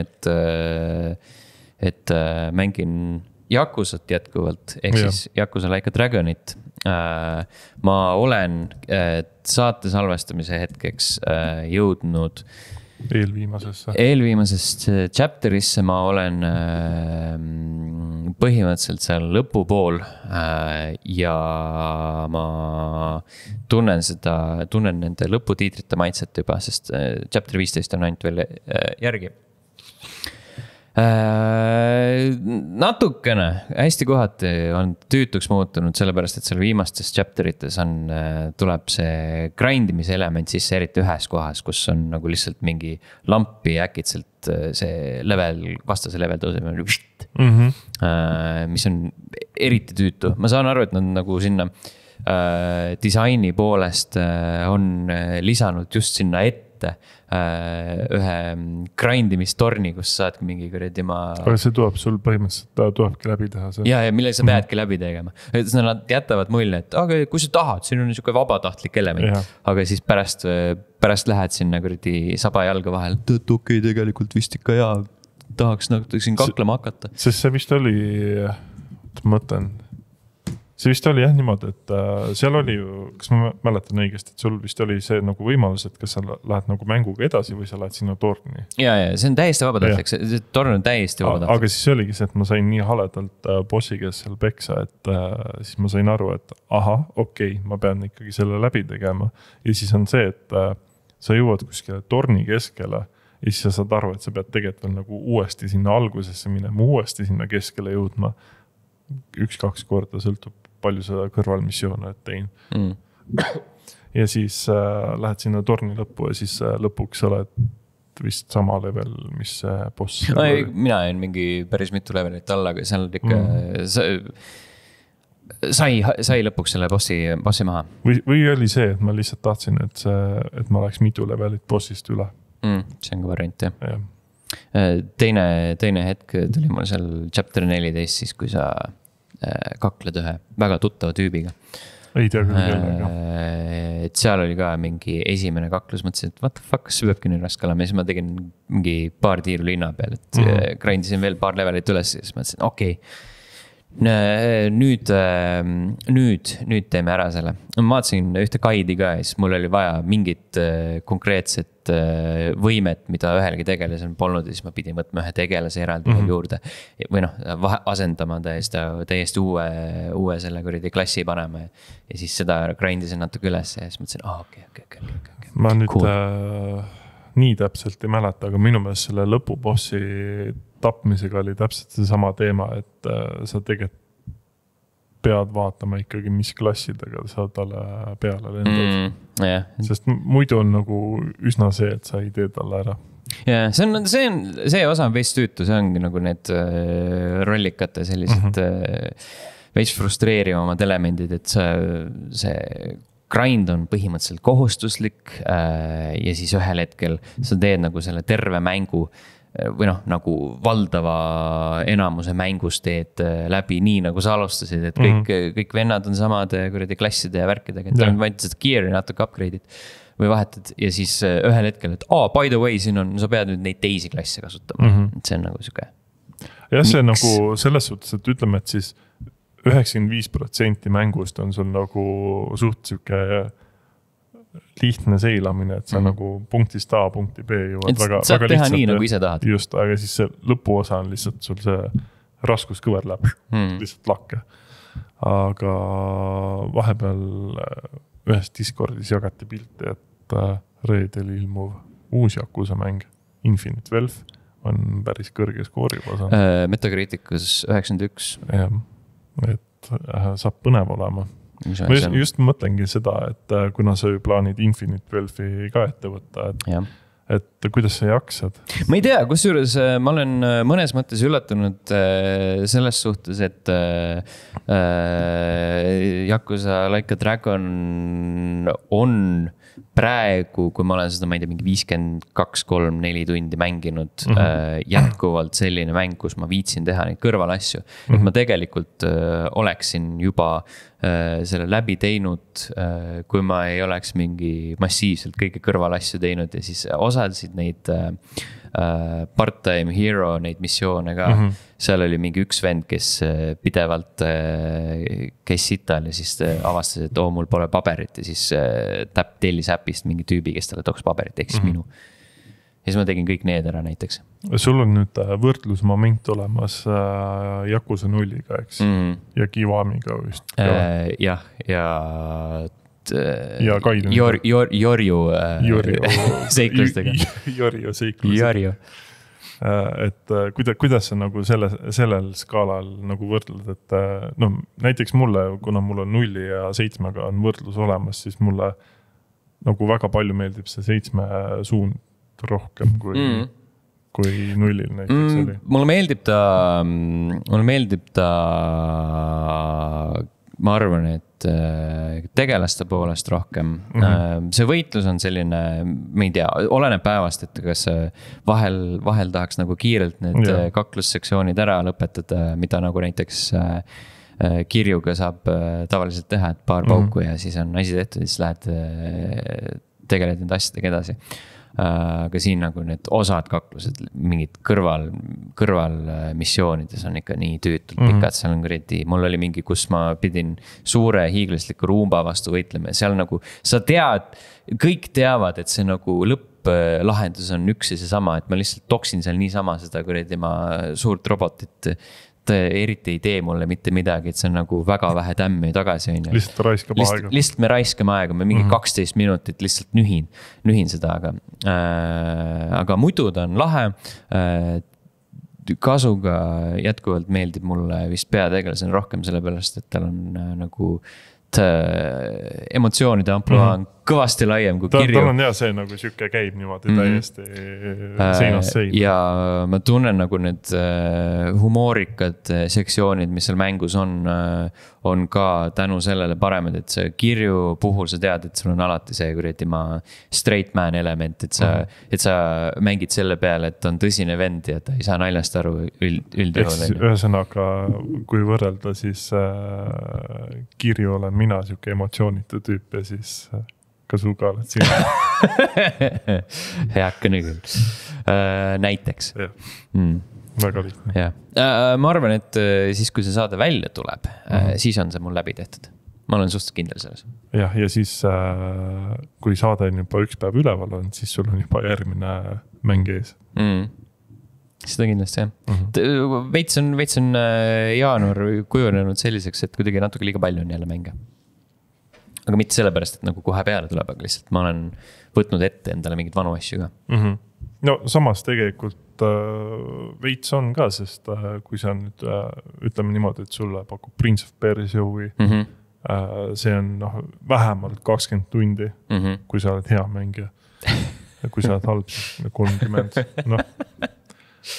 et mängin Yakusat jätkuvalt, ehk siis Yakuza Like a Dragonit. Ma olen saate salvestamise hetkeks jõudnud eelviimasest chapterisse ma olen põhimõtteliselt seal lõpupool ja ma tunnen nende lõputiitrite maitset juba, sest chapter 15 on ainult veel järgi. Natukene, hästi kohati on tüütuks muutunud, sellepärast, et seal viimastes chapterites tuleb see grindimise element sisse eriti ühes kohas, kus on nagu lihtsalt mingi lampi äkitselt see vastase level tõuseb, mis on eriti tüütu. Ma saan aru, et nad nagu sinna disaini poolest on lisanud just sinna ette ühe grindimistorni, kus saad mingi kuradi Aga see tuleb sul põhimõtteliselt, ta tulebki läbi teha see. Ja mille sa peadki läbi tegema. Nad jätavad mulje, et aga kui sa tahad, siin on niisugune vabatahtlik element. Aga siis pärast lähed sinna kuradi saba jalga vahel, et okei, tegelikult vist ikka hea, tahaks siin kaklema hakata. Sest see vist oli, mõtlen, see vist oli jah niimoodi, et seal oli ju, kas ma mäletan õigesti, et sul vist oli see nagu võimalus, et kas sa lähed nagu mänguga edasi või sa lähed sinna torni. Ja, see on täiesti vabatahtlik, see torn on täiesti vabatahtlik. Aga siis oligi see, et ma sain nii haledalt bossi käes seal peksa, et siis ma sain aru, et okei, ma pean ikkagi selle läbi tegema. Ja siis on see, et sa jõuad kuskile torni keskele ja siis sa saad aru, et sa pead tegelikult veel nagu uuesti sinna algusesse minema, uuesti sinna keskele jõudma 1-2 korda, sõltub palju sa kõrvalmissioone tein. Ja siis lähed sinna torni lõppu ja siis lõpuks oled vist sama level, mis boss. No, mina jäin mingi päris mitu levelit alla, aga seal ikka sai lõpuks selle bossi maha. Või oli see, et ma lihtsalt tahtsin, et ma oleks mitu levelit bossist üle. See on ka variant, jah. Teine hetk tuli mul seal chapter 14, siis kui sa kakled ühe väga tuttava tüübiga. Ei tea küll kellega. Et seal oli ka mingi esimene kaklus, mõtlesin, et what the fuck, kas peabki nii raske olema. Ja siis ma tegin mingi paar tiiru linna peal, et grindisin veel paar levelit üles ja siis mõtlesin, okei. Nüüd teeme ära selle. Ma vaatasin ühte guide'i ka ja siis mul oli vaja mingit konkreetset võimet, mida ühelgi tegelasel polnud ja siis ma pidin võtma ühe tegelase eraldi juurde või asendama täiesti uue selle kuradi klassi panema ja siis seda grindisin natuke üles ja siis mõtlesin, okei. Ma nüüd nii täpselt ei mäleta, aga minu meelest selle lõpubossi tapmisega oli täpselt see sama teema, et sa tegelikult pead vaatama ikkagi, mis klassidega sa talle peale lendad. Sest muidu on nagu üsna see, et sa ei tee talle ära. Ja, see osa on veits tüütu, see ongi nagu need rollikate sellised veits frustreerivamad elemendid, et see grind on põhimõtteliselt kohustuslik ja siis ühel hetkel sa teed nagu selle terve mängu või nagu valdava enamuse mängust teed läbi nii nagu sa alustasid, et kõik vennad on samade kuradi klasside ja värkidega, et on vaid seda gear'i natuke upgrade'id või vahetad ja siis ühel hetkel, et by the way, siin on, sa pead nüüd neid teisi klasse kasutama, et see on nagu süge. Ja see on nagu selles suhtes, et ütleme, et siis 95% mängust on sul nagu suht süke lihtne seilamine, et sa nagu punktist A punkti B jõuad väga saad teha lihtsalt, nii nagu ise tahad. Just, aga siis see lõpuosa on lihtsalt sul see raskuskõver läheb lihtsalt lakke. Aga vahepeal ühes Discordis jagati pilti, et reedel ilmuv uus Yakuza mäng Infinite Wealth on päris kõrge skoori osa. Metacriticus 91. Jah, et saab põnev olema. Ma just mõtlengi seda, et kuna sa ju plaanid Infinite Wealthi ka ette võtta, et kuidas sa jaksad? Ma ei tea, kusjuures ma olen mõnes mõttes üllatunud selles suhtes, et Yakuza Like a Dragon on praegu, kui ma olen seda, ma ei tea, mingi 52-3-4 tundi mänginud jätkuvalt selline mäng, kus ma viitsin teha neid kõrvalasju. Et ma tegelikult oleksin juba selle läbi teinud, kui ma ei oleks mingi massiivselt kõige kõrvalasju teinud ja siis osasid neid part-time hero, neid missioone ka. Seal oli mingi üks vend, kes pidevalt käis sital ja siis avastas, et mul pole paberit ja siis tellis äpist mingi tüübi, kes talle tooks paberit, ehk siis minu. Ja siis ma tegin kõik need ära näiteks. Sul on nüüd võrdlusmoment olemas Yakuza 0-ga, eks? Ja Kiwamiga vist. Jah, ja Kaidun. Jorju seiklustega. Jorju seiklustega. Et kuidas sa nagu sellel skaalal nagu võrdled, et näiteks mulle, kuna mul on 0 ja 7-ga on võrdlus olemas, siis mulle nagu väga palju meeldib see 7 suund rohkem kui 0-il näiteks oli. Mulle meeldib ta, ma arvan, et tegelaste poolest rohkem. See võitlus on selline, ma ei tea, oleneb päevast, et kas vahel tahaks nagu kiirelt need kaklussektsioonid ära lõpetada, mida nagu näiteks kirjuga saab tavaliselt teha, et paar pauku ja siis on asi tehtud ja siis lähed tegeled nende asjadega edasi. aga siin nagu need osad kaklused, mingid kõrval missioonides on ikka nii tüütult pikad, seal on kuradi, mul oli mingi, kus ma pidin suure hiiglasliku ruumba vastu võitlema ja seal nagu, sa tead, kõik teavad, et see nagu lõpplahendus on üks ja seesama, et ma lihtsalt toksin seal niisama seda kuradi ma suurt robotit, eriti ei tee mulle mitte midagi, et see on nagu väga vähe tämmi tagasi. Lihtsalt raiskab aega. Lihtsalt me raiskame aega, ma mingi 12 minutit lihtsalt nühin seda, aga muidu ta on lahe. Kasuga jätkuvalt meeldib mulle vist peategelasena rohkem sellepärast, et tal on nagu emotsioonide ampluaa on kõvasti laiem kui kirju. Tal on hea see nagu siuke käib niimoodi täiesti seinast seina. Ja ma tunnen nagu need humoorikad sektsioonid, mis seal mängus on ka tänu sellele paremad, et see kirju puhul sa tead, et sul on alati see kuradi straight man element, et sa mängid selle peale, et on tõsine vend ja ta ei saa naljast aru üldjuhul. Ühesõnaga, kui võrrelda, siis kirju olen mina siuke emotsioonitu tüüp ja siis Kasuga oled sina. Heakene küll. Näiteks. Väga lihtne. Ja. Ma arvan, et siis kui see saade välja tuleb, siis on see mul läbi tehtud. Ma olen suhteliselt kindel selles. Ja siis kui saade on juba üks päev üleval on, siis sul on juba järgmine mäng ees. Seda kindlasti, jah. Veits on jaanuar kujunenud selliseks, et kuidagi natuke liiga palju on jälle mänge. Aga mitte sellepärast, et nagu kohe peale tuleb, aga lihtsalt ma olen võtnud ette endale mingid vanu asju ka. No samas tegelikult veits on ka, sest kui sa nüüd ütleme niimoodi, et sulle pakub Prince of Persia huvi, see on vähemalt 20 tundi, kui sa oled hea mängija. Kui sa oled halb, 30.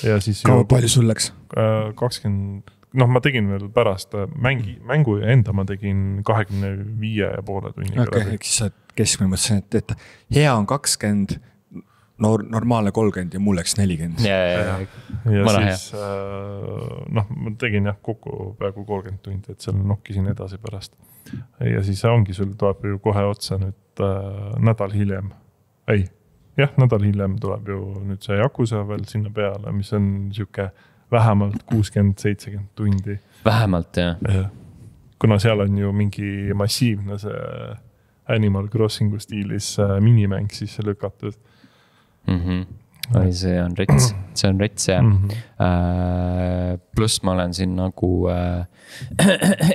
Ja siis palju sul läks? 20... ma tegin veel pärast mängu ja enda ma tegin 25,5 tunniga. Okay, siis sa keskmine mõtlesin, et hea on 20, normaalne 30 ja mul läks 40. Ja siis ma tegin kokku peaaegu 30 tundi, et seal nokkisin edasi pärast. Ja siis ongi, sul tuleb ju kohe otsa nüüd nädal hiljem. Nädal hiljem tuleb ju nüüd see Yakuza veel sinna peale, mis on siuke vähemalt 60-70 tundi. Vähemalt, jah. Kuna seal on ju mingi massiivne see Animal Crossingu stiilis minimäng siis lükatud. See on rets, jah. Pluss ma olen siin nagu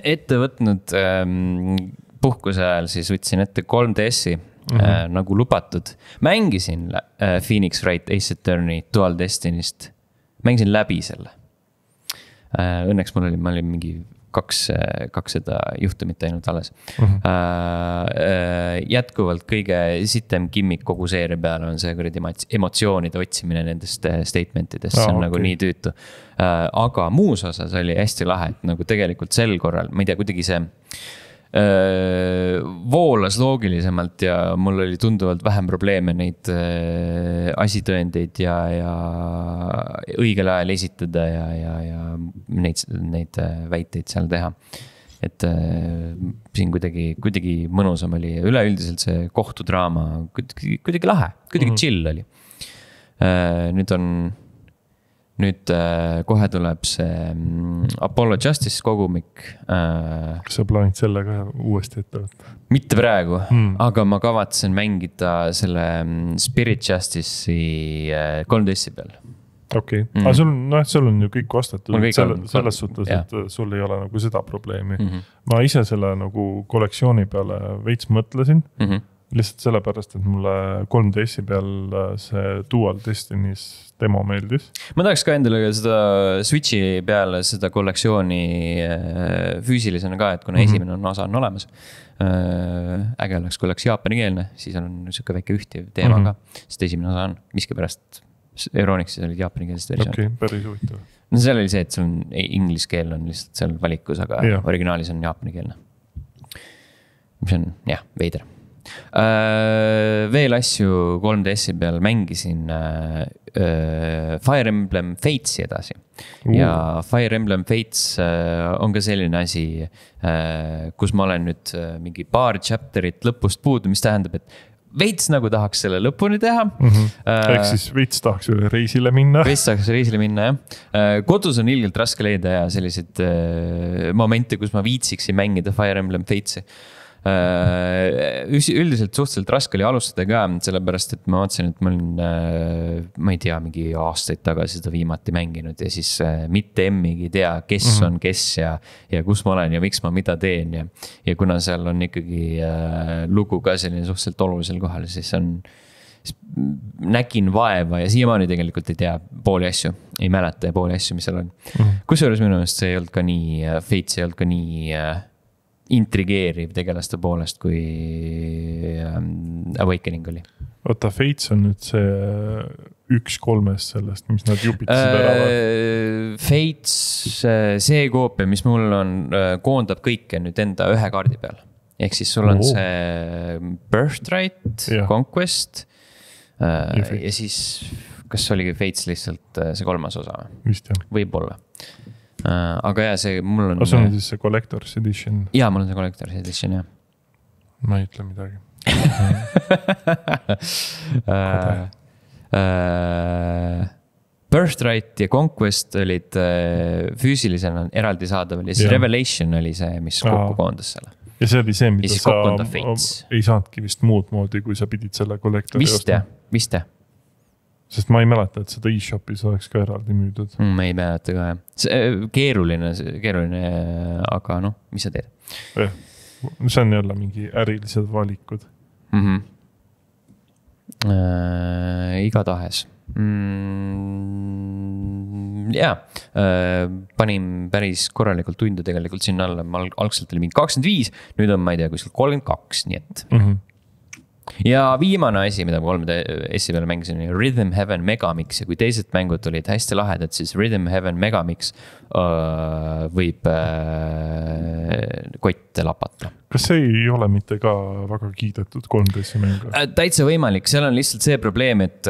ette võtnud puhkuse ajal, siis võtsin ette 3DS-i nagu lubatud. Mängisin Phoenix Wright Ace Attorney Dual Destinist. Mängisin läbi selle. Õnneks ma olin mingi kaks seda juhtumit ainult alles. Jätkuvalt kõige sitem kimmik kogu seeria peale on see kuradi emotsioonide otsimine nendest statementidest. See on nagu nii tüütu. Aga muus osas oli hästi lahe, et nagu tegelikult sel korral, ma ei tea, kuidagi see voolas loogilisemalt ja mul oli tunduvalt vähem probleeme neid asitõendeid ja õigel ajal esitada ja neid väiteid seal teha. Et siin kuidagi mõnusam oli. Üleüldiselt see kohtudraama kuidagi lahe, kuidagi chill oli. Nüüd kohe tuleb see Apollo Justice kogumik. Kas sa plaanid selle ka uuesti ette võtta? Mitte praegu, aga ma kavatsen mängida selle Spirit Justice'i 3DS-i peal. Okei, aga sul on ju kõik vastatud selles suhtes, et sul ei ole nagu seda probleemi. Ma ise selle nagu kollektsiooni peale veits mõtlesin, lihtsalt sellepärast, et mulle 3DS-i peal see Dual Destiny's demo meeldis. Ma tahaks ka endale seda Switchi peale seda kollektsiooni füüsilisena ka, et kuna esimene osa on olemas. Äge oleks, kui oleks jaapanikeelne, siis on niisugune väike ühtiv teema ka, sest esimene osa on miskipärast Euronixis olid jaapanikeelsed versioon. Okei, päris huvitav. No seal oli see, et sul inglise keel on lihtsalt seal valikus, aga originaalis on jaapanikeelne. Mis on, veider. Veel asju 3DS-i peal mängisin Fire Emblem Fates'i edasi. Ja Fire Emblem Fates on ka selline asi, kus ma olen nüüd mingi paar chapterit lõpust puudu, mis tähendab, et veits nagu tahaks selle lõpuni teha ehk siis veits tahaks üle reisile minna. Veits tahaks reisile minna, jah. Kodus on ilgelt raske leida ja selliseid momente, kus ma viitsiksin mängida Fire Emblem Fates'i. Üldiselt suhteliselt raske oli alustada ka, sellepärast, et ma vaatasin, et ma olin, ma ei tea, mingi aastaid tagasi seda viimati mänginud ja siis mitte emmigi tea, kes on kes ja kus ma olen ja miks ma mida teen ja kuna seal on ikkagi lugu ka selline suhteliselt olulisel kohal, siis nägin vaeva ja siiamaani tegelikult ei tea pooli asju, ei mäleta pooli asju, mis seal on. Kusjuures minu meelest see ei olnud ka nii, Fates ei olnud ka nii intrigeeriv tegelaste poolest, kui Awakening oli. Oota, Fates on nüüd see 1/3 sellest, mis nad jupitasid ära. Fates, see koopia, mis mul on, koondab kõike nüüd enda ühe kaardi peal. Ehk siis sul on see Birthright, Conquest ja siis kas oligi Fates lihtsalt see 3. osa? Vist jah. Võib-olla. Aga jah, see mul on... See on siis see Collector's Edition? Jaa, mul on see Collector's Edition, jah. Ma ei ütle midagi. Birthright ja Conquest olid füüsilisena eraldi saadaval ja siis Revelation oli see, mis kokku koondas selle. Ja see oli see, mida sa ei saadki vist muud moodi, kui sa pidid selle Collectori ostma. Vist jah. Sest ma ei mäleta, et seda e-shopis oleks ka eraldi müüdud. Ma ei mäleta ka, jah. Keeruline, aga noh, mis sa teed? See on jälle mingi ärilised valikud. Igatahes. Jaa, panin päris korralikult tunde tegelikult sinna alla. Algselt oli mingi 25, nüüd on, ma ei tea, kuskil 32, nii et... Ja viimane asi, mida ma 3DS peale mängisin, oli Rhythm Heaven Megamix ja kui teised mängud olid hästi lahedad, siis Rhythm Heaven Megamix võib kotte lapata. Kas see ei ole mitte ka väga kiidetud 3DS mängu? Täitsa võimalik, seal on lihtsalt see probleem, et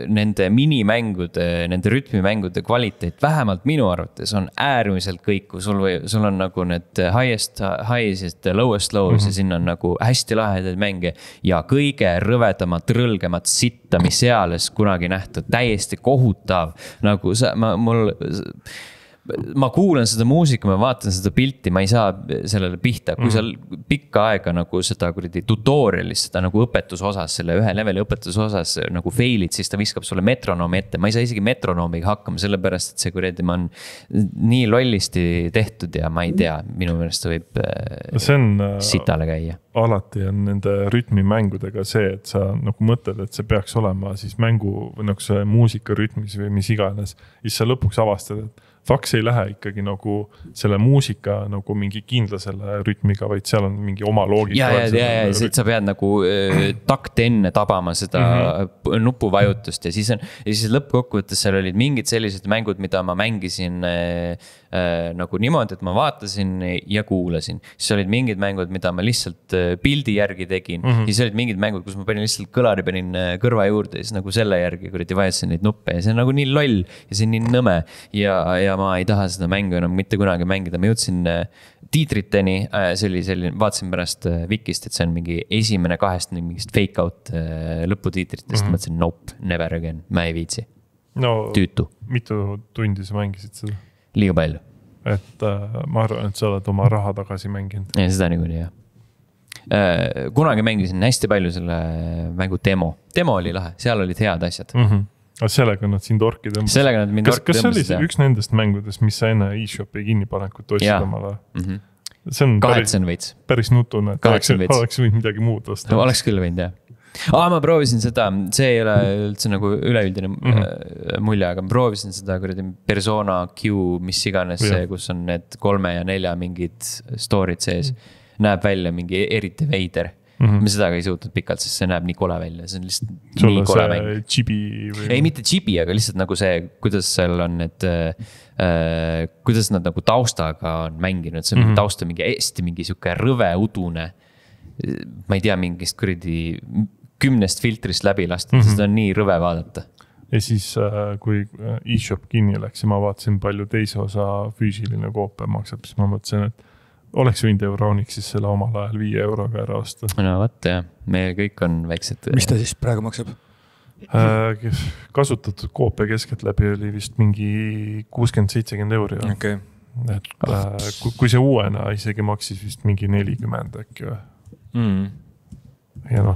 nende minimängude, nende rütmimängude kvaliteet, vähemalt minu arvates on äärmiselt kõiku. Sul on nagu need highest ja lowest lows ja sinna on nagu hästi lahedaid mänge ja kõige rõvedamat, rõlgemat sitta, mis seales kunagi nähtud, täiesti kohutav. Nagu ma kuulan seda muusika, ma vaatan seda pilti, ma ei saa sellele pihta. Kui seal pikka aega nagu seda tutorialis, seda nagu õpetusosas, selle ühe leveli õpetusosas nagu failid, siis ta viskab sulle metronoomi ette. Ma ei saa isegi metronoomiga hakkama, sellepärast, et see kuradi ma on nii lollisti tehtud ja ma ei tea, minu meelest võib sitale käia. Alati on nende rütmimängudega see, et sa nagu mõtled, et see peaks olema siis mängu või nagu see muusika rütmis või mis iganes. Siis sa lõpuks avastad, et faks ei lähe ikkagi nagu selle muusika nagu mingi kindla selle rütmiga, vaid seal on mingi oma loogika. Ja, siit sa pead nagu takt enne tabama seda nupuvajutust ja siis lõppkokkuvõttes seal olid mingid sellised mängud, mida ma mängisin nagu niimoodi, et ma vaatasin ja kuulasin. Siis olid mingid mängud, mida ma lihtsalt pildi järgi tegin. Siis olid mingid mängud, kus ma panin lihtsalt kõlari panin kõrva juurde ja siis nagu selle järgi kuradi vajutasin neid nuppe ja see on nagu nii loll ja see on nii nõme ja ma ei taha seda mängu enam mitte kunagi mängida. Ma jõudsin tiitriteni, see oli selline, vaatasin pärast Wikist, et see on mingi esimene 2 mingist fake out lõputiitritest. Ma mõtlesin, nope, never again, ma ei viitsi. Tüütu. Mitu tundi sa mängisid seda? Liiga palju. Et ma arvan, et sa oled oma raha tagasi mänginud. Ja seda niikuinii, jah. Kunagi mängisin hästi palju selle mängu demo. Demo oli lahe, seal olid head asjad. Sellega nad sind orki tõmbasid. Kas see oli üks nendest mängudest, mis sa enne e-shopi kinnipanekut ostsid omale? See on päris nutune, et oleks võinud midagi muud osta. Oleks küll võinud, jah. Ma proovisin seda, see ei ole üldse nagu üleüldine mulje, aga ma proovisin seda Persona Q, mis iganes see, kus on need 3 ja 4 mingid story'd sees, näeb välja mingi eriti veider. Ma seda ka ei suutnud pikalt, sest see näeb nii kole välja, see on lihtsalt nii kole mäng. Chibi või? Ei, mitte chibi, aga lihtsalt nagu see, kuidas seal on need, kuidas nad nagu taustaga on mänginud, see on tausta mingi hästi mingi siuke rõve udune, ma ei tea, mingist kuradi 10 filtrist läbi lastud, seda on nii rõve vaadata. Ja siis, kui e-shop kinni läks ja ma vaatasin palju teise osa füüsiline koopia maksab, siis ma mõtlesin, et oleks võinud Euronixis selle omal ajal 5 euroga ära osta. No võtta jah, meil kõik on väiksed. Mis ta siis praegu maksab? Kasutatud koopia keskeltläbi oli vist mingi 60-70 euri. Okay. Et kui see uuena isegi maksis vist mingi 40 äkki või. Ja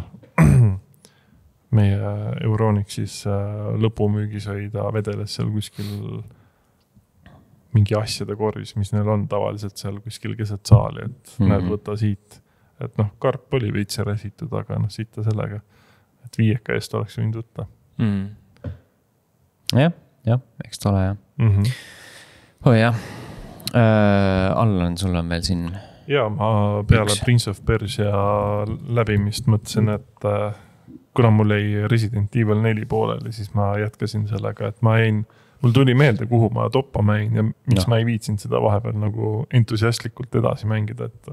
meie Euronixis lõpumüügis oli ta vedeles seal kuskil mingi asjade korvis, mis neil on tavaliselt seal kuskil keset saali, et näed võtta siit. Et karp oli veitse räsitud, aga siit sellega, et 5 eest oleks võinud võtta. Jah, eks ta ole jah. Jah. Allan, sul on veel siin. Ja ma peale Prince of Persia läbimist mõtlesin, et kuna mul ei Resident Evil 4 pooleli, siis ma jätkasin sellega, et mul tuli meelde, kuhu ma toppa mängin ja miks ma ei viitsinud seda vahepeal nagu entusiastlikult edasi mängida, et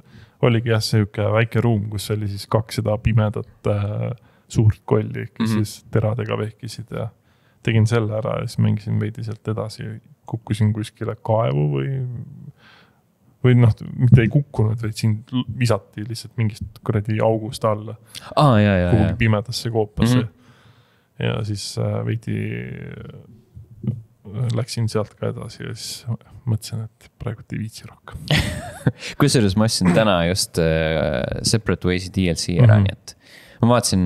oligi jah selline väike ruum, kus oli siis 2 seda pimedat suurt kolli, kes siis teradega vehkisid ja tegin selle ära ja siis mängisin veidi sealt edasi, kukkusin kuskile kaevu või mitte ei kukkunud, vaid siin visati lihtsalt mingist kuradi august alla. Kuhugi pimedasse koopasse. Ja siis veidi läksin sealt ka edasi ja siis mõtlesin, et praegu ei viitsi rohkem. Kusjuures ma ostsin täna just Separate Ways'i DLC ära, nii et ma vaatasin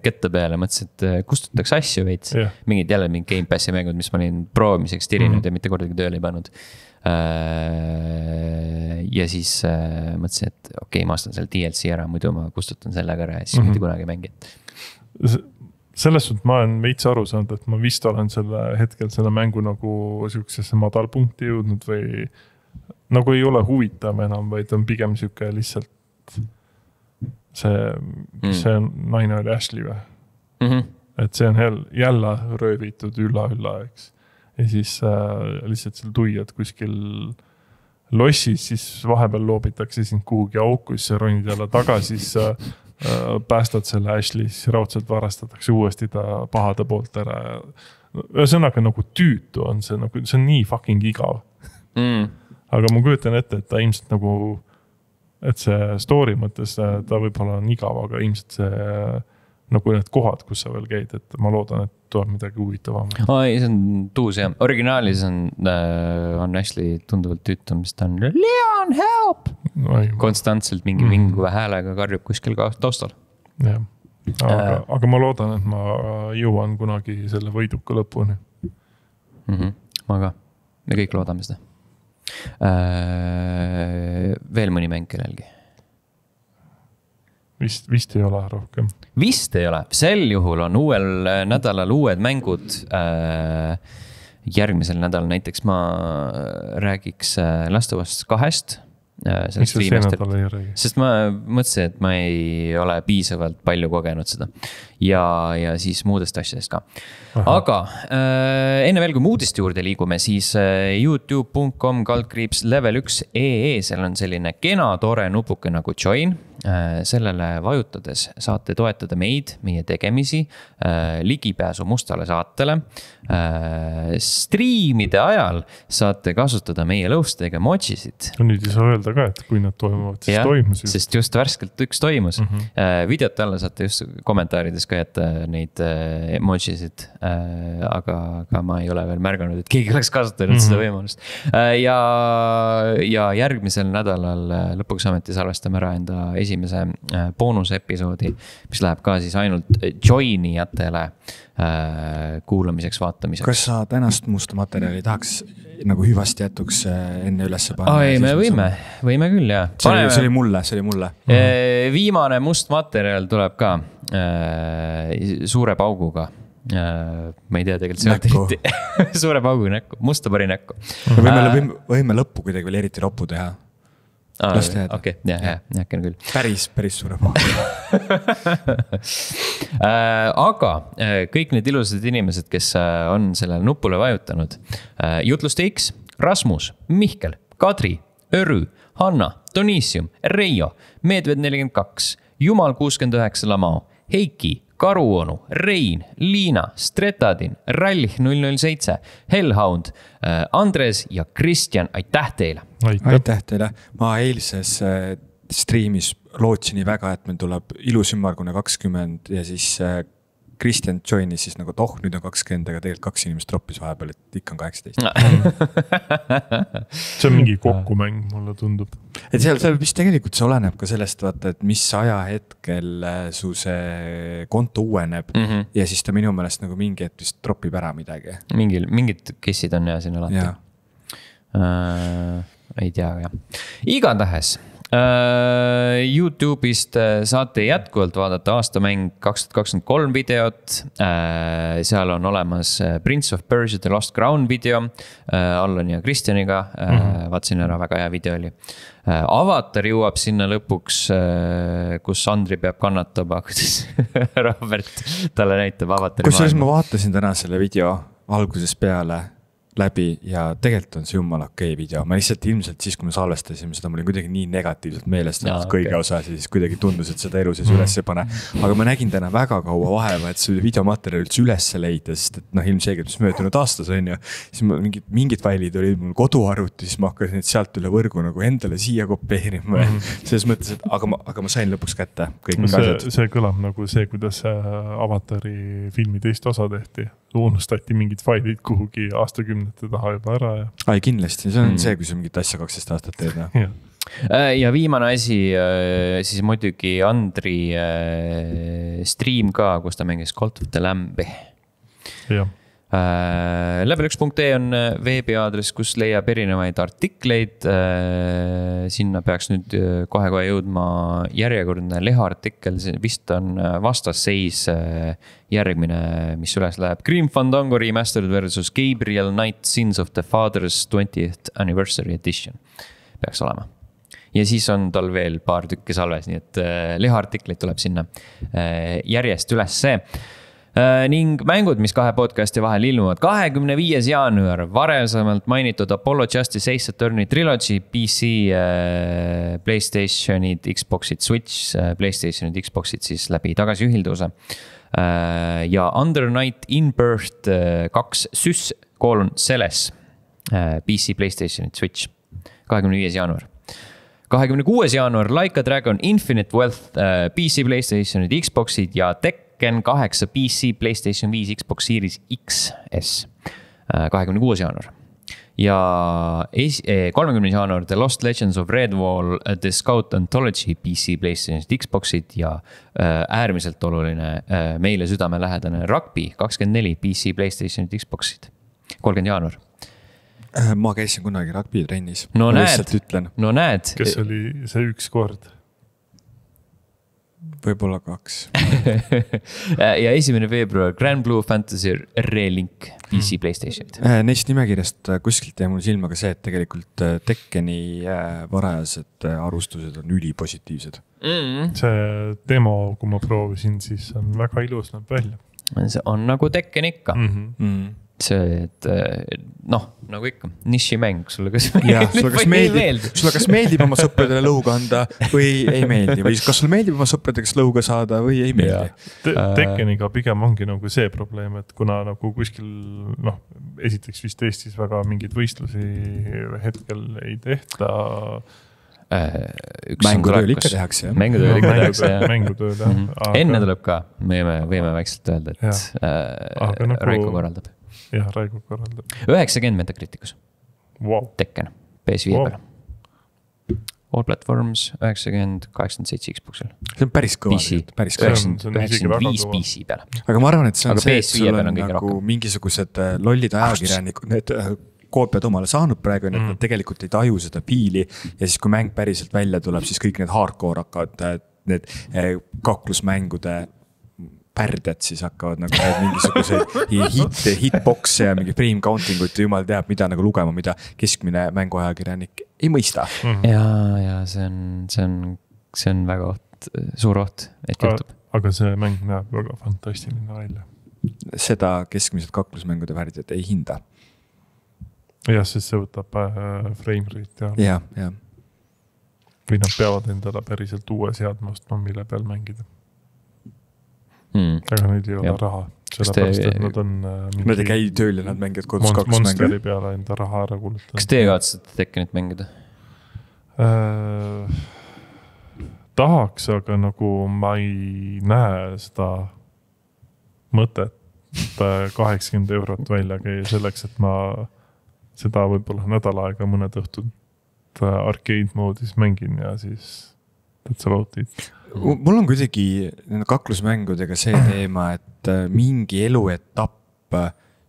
ketta peale, mõtlesin, et kustutaks asju veits. Mingid jälle mingid Game Passi mängud, mis ma olin proovimiseks tirinud ja mitte kordagi tööle ei pannud. Ja siis mõtlesin, et okei, ma ostan selle DLC ära, muidu ma kustutan sellega ära ja siis mitte kunagi mängi. Selles suhtes ma olen veits aru saanud, et ma vist olen selle mängu nagu sellisesse madalpunkti jõudnud või nagu ei ole huvitav enam, vaid on pigem selline lihtsalt see naine oli Ashley või? Et see on jälle röövitud ülla, eks. Ja siis lihtsalt seal tuiad kuskil lossis, siis vahepeal loobitakse sind kuhugi aukusse, ronid jälle tagasi, siis päästad selle Ashley, siis raudselt varastatakse uuesti ta pahade poolt ära. Ühesõnaga nagu tüütu on see, nagu, see on nii fucking igav. Aga ma kujutan ette, et ta ilmselt nagu, et see story mõttes ta võib-olla on igav, aga ilmselt see nagu need kohad, kus sa veel käid, et ma loodan, et tuleb midagi huvitavam. See on tuus jah. Originaalis on Ashley tunduvalt tüütum, mis ta on Leon, help! Konstantselt mingi vinguva häälega karjub kuskil taustal. Jah. Aga ma loodan, et ma jõuan kunagi selle võiduka lõpuni. Ma ka. Me kõik loodame seda. Veel mõni mäng kellelgi? Vist ei ole rohkem. Vist ei ole. Sel juhul on uuel nädalal uued mängud. Järgmisel nädalal näiteks ma räägiks Last of Us 2. Miks see nädal ei räägi? Sest ma mõtlesin, et ma ei ole piisavalt palju kogenud seda. Ja siis muudest asjadest ka. Aga enne veel, kui muudist juurde liigume, siis youtube.com/level1.ee, seal on selline kena tore nupuke nagu join. Sellele vajutades saate toetada meid, meie tegemisi, ligipääsu mustale saatele. Striimide ajal saate kasutada meie lõustega emojisid. Nüüd ei saa öelda ka, et kui nad toimuvad, siis toimus. Sest just värskelt üks toimus. Videote alla saate just kommentaarides ka jätta neid emojisid, aga ma ei ole veel märganud, et keegi oleks kasutanud seda võimalust. Ja järgmisel nädalal lõpuks ameti salvestame ära enda esimese boonusepisoodi, mis läheb ka siis ainult joinijatele kuulamiseks, vaatamiseks. Kas sa tänast musta materjali tahaks nagu hüvasti jätuks enne ülesse panna? Me võime küll, jah. See oli mulle. Viimane must materjal tuleb ka suure pauguga. Ma ei tea tegelikult suure pauguga näkku, musta pari näkku. Võime lõppu kuidagi veel eriti roppu teha. Okei, äkki küll. Päris suure paugu. Aga kõik need ilusad inimesed, kes on sellele nupule vajutanud. Jutluste X, Rasmus, Mihkel, Kadri, Örü, Hanna, Donissium, Reijo, Medved 42, Jumal 69 Lamao, Heiki, Karuonu, Rein, Liina, Stretadin, Rallih 007, Hellhound, Andres ja Kristjan, aitäh teile! Aitäh teile! Ma eilses striimis lootsin nii väga, et meil tuleb ilus ümmargune 20 ja siis Kristjan joinis siis nagu, et nüüd on 20, aga tegelikult 2 inimest troppis vahepeal, et ikka on 18. See on mingi kokkumäng, mulle tundub. Et seal vist tegelikult see oleneb ka sellest, vaata, et mis ajahetkel su see konto uueneb ja siis ta minu meelest nagu mingi hetk vist troppib ära midagi. Mingid kessid on ja siin alati. Ei tea, jah. Igatahes. YouTube'ist saate jätkuvalt vaadata aastamäng 2023 videot. Seal on olemas Prince of Persia The Lost Crown video Allan ja Kristjaniga. Vaatsin ära, väga hea video oli. Avatar jõuab sinna lõpuks, kus Andri peab kannatama, kuidas Robert talle näitab Avatari maailma. Ma vaatasin täna selle video alguses peale läbi ja tegelikult on see jumala okei video. Ma lihtsalt ilmselt siis, kui me salvestasime seda, mul oli kuidagi nii negatiivselt meelest kõige osas ja siis kuidagi tundus, et seda elu sees üles ei pane. Aga ma nägin täna väga kaua vaeva, et see videomaterjali üldse üles leida, sest et ilmselgelt, mis möödunud aastas on ju, siis mingid failid olid mul koduarvuti, siis ma hakkasin sialt üle võrgu nagu endale siia kopeerima. Selles mõttes, et aga ma sain lõpuks kätte kõik asjad. See kõlab nagu see, kuidas Avatari filmi teist osa tehti. Unustati mingid failid kuhugi aastakümnete taha juba ära. Ai, kindlasti. See on see, kui sa mingit asja 12 aastat teed. Ja viimane asi, siis muidugi Andri stream ka, kus ta mängis Cult of the Lambi. Jah. Level1.ee on veebiaadress, kus leiab erinevaid artikleid. Sinna peaks nüüd kohe jõudma järjekordne leheartikkel. Vist on vastasseis järgmine, mis üles läheb. Grim Fandango Remastered versus Gabriel Knight Sins of the Father's 20th Anniversary Edition. Peaks olema. Ja siis on tal veel paar tükki salves, nii et leheartikleid tuleb sinna järjest üles see. Ning mängud, mis 2 podcasti vahel ilmuvad 25. jaanuar, varasemalt mainitud Apollo Justice Ace Attorney Trilogy, PC, PlayStationid, Xboxid, Switch, PlayStationid, Xboxid siis läbi tagasiühilduse. Ja Under Night In-Birth 2 Sys Celes, PC, PlayStationid, Switch, 25. jaanuar. 26. jaanuar Like a Dragon Infinite Wealth, PC, PlayStationid, Xboxid ja Tekken 8 PC, PlayStation 5, Xbox Series XS. 26. jaanuar. Ja 30. jaanuar The Lost Legends of Redwall, The Scout Anthology, PC, PlayStation, Xboxid ja äärmiselt oluline meile südamelähedane Rugby 24, PC, PlayStation, Xboxid. 30. jaanuar. Ma käisin kunagi rugby trennis. No näed. Kes oli see üks kord? Võib-olla 2. Ja 1. veebruar Grand Blue Fantasy Relink PC PlayStationid. Neist nimekirjast kuskilt jäi mul silma ka see, et tegelikult Tekkeni varajased arvustused on ülipositiivsed. See demo, kui ma proovisin, siis on väga ilus näeb välja. See on nagu Tekken ikka. See, et nagu ikka, nišimäng, sulle kas meeldib oma sõpradele lõuga anda või ei meeldi või kas sulle meeldib oma sõpradega lõuga saada või ei meeldi. Tekkeniga pigem ongi nagu see probleem, et kuna nagu kuskil, esiteks vist Eestis väga mingid võistlusi hetkel ei tehta. Mängutööl ikka tehakse. Mängutööl, Enne tuleb ka, võime väikselt öelda, et Raiko korraldab. Jah, Raigo korraldab. 90 Metacriticus. Wow. Tekken, PS5 peale. All platforms, 90, 87 Xboxil. See on päris kõva. PC, 95 PC peale. Aga ma arvan, et see on see, et sul on nagu mingisugused lollid ajakirjanikud, need koopiad omale saanud praegu, et nad tegelikult ei taju seda piili ja siis kui mäng päriselt välja tuleb, siis kõik need hardcore hakkavad, need kaklusmängude pärded siis hakkavad nagu mingisuguseid hitboxe ja mingi frame counting ut ja jumal teab, mida nagu lugema, mida keskmine mänguajakirjanik ei mõista. Ja see on väga suur oht, et juhtub. Aga see mäng näeb väga fantastiline välja. Seda keskmised kaklusmängude värdjad ei hinda. Jah, sest see võtab frame rate ja. Või nad peavad endale päriselt uue seadma ostma, mille peal mängida. aga neil ei ole raha. Sellepärast, et nad on Nad ei käi tööl ja nad mängivad kodus 2 Monsteri peale enda raha ära kulutanud. Kas teie kavatsete Tekkenit mängida? Tahaks, aga nagu ma ei näe seda mõtet 80 € välja käia selleks, et ma seda võib-olla nädal aega mõned õhtud arcade moodis mängin ja siis that's about it. Mul on kuidagi kaklusmängudega see teema, et mingi eluetapp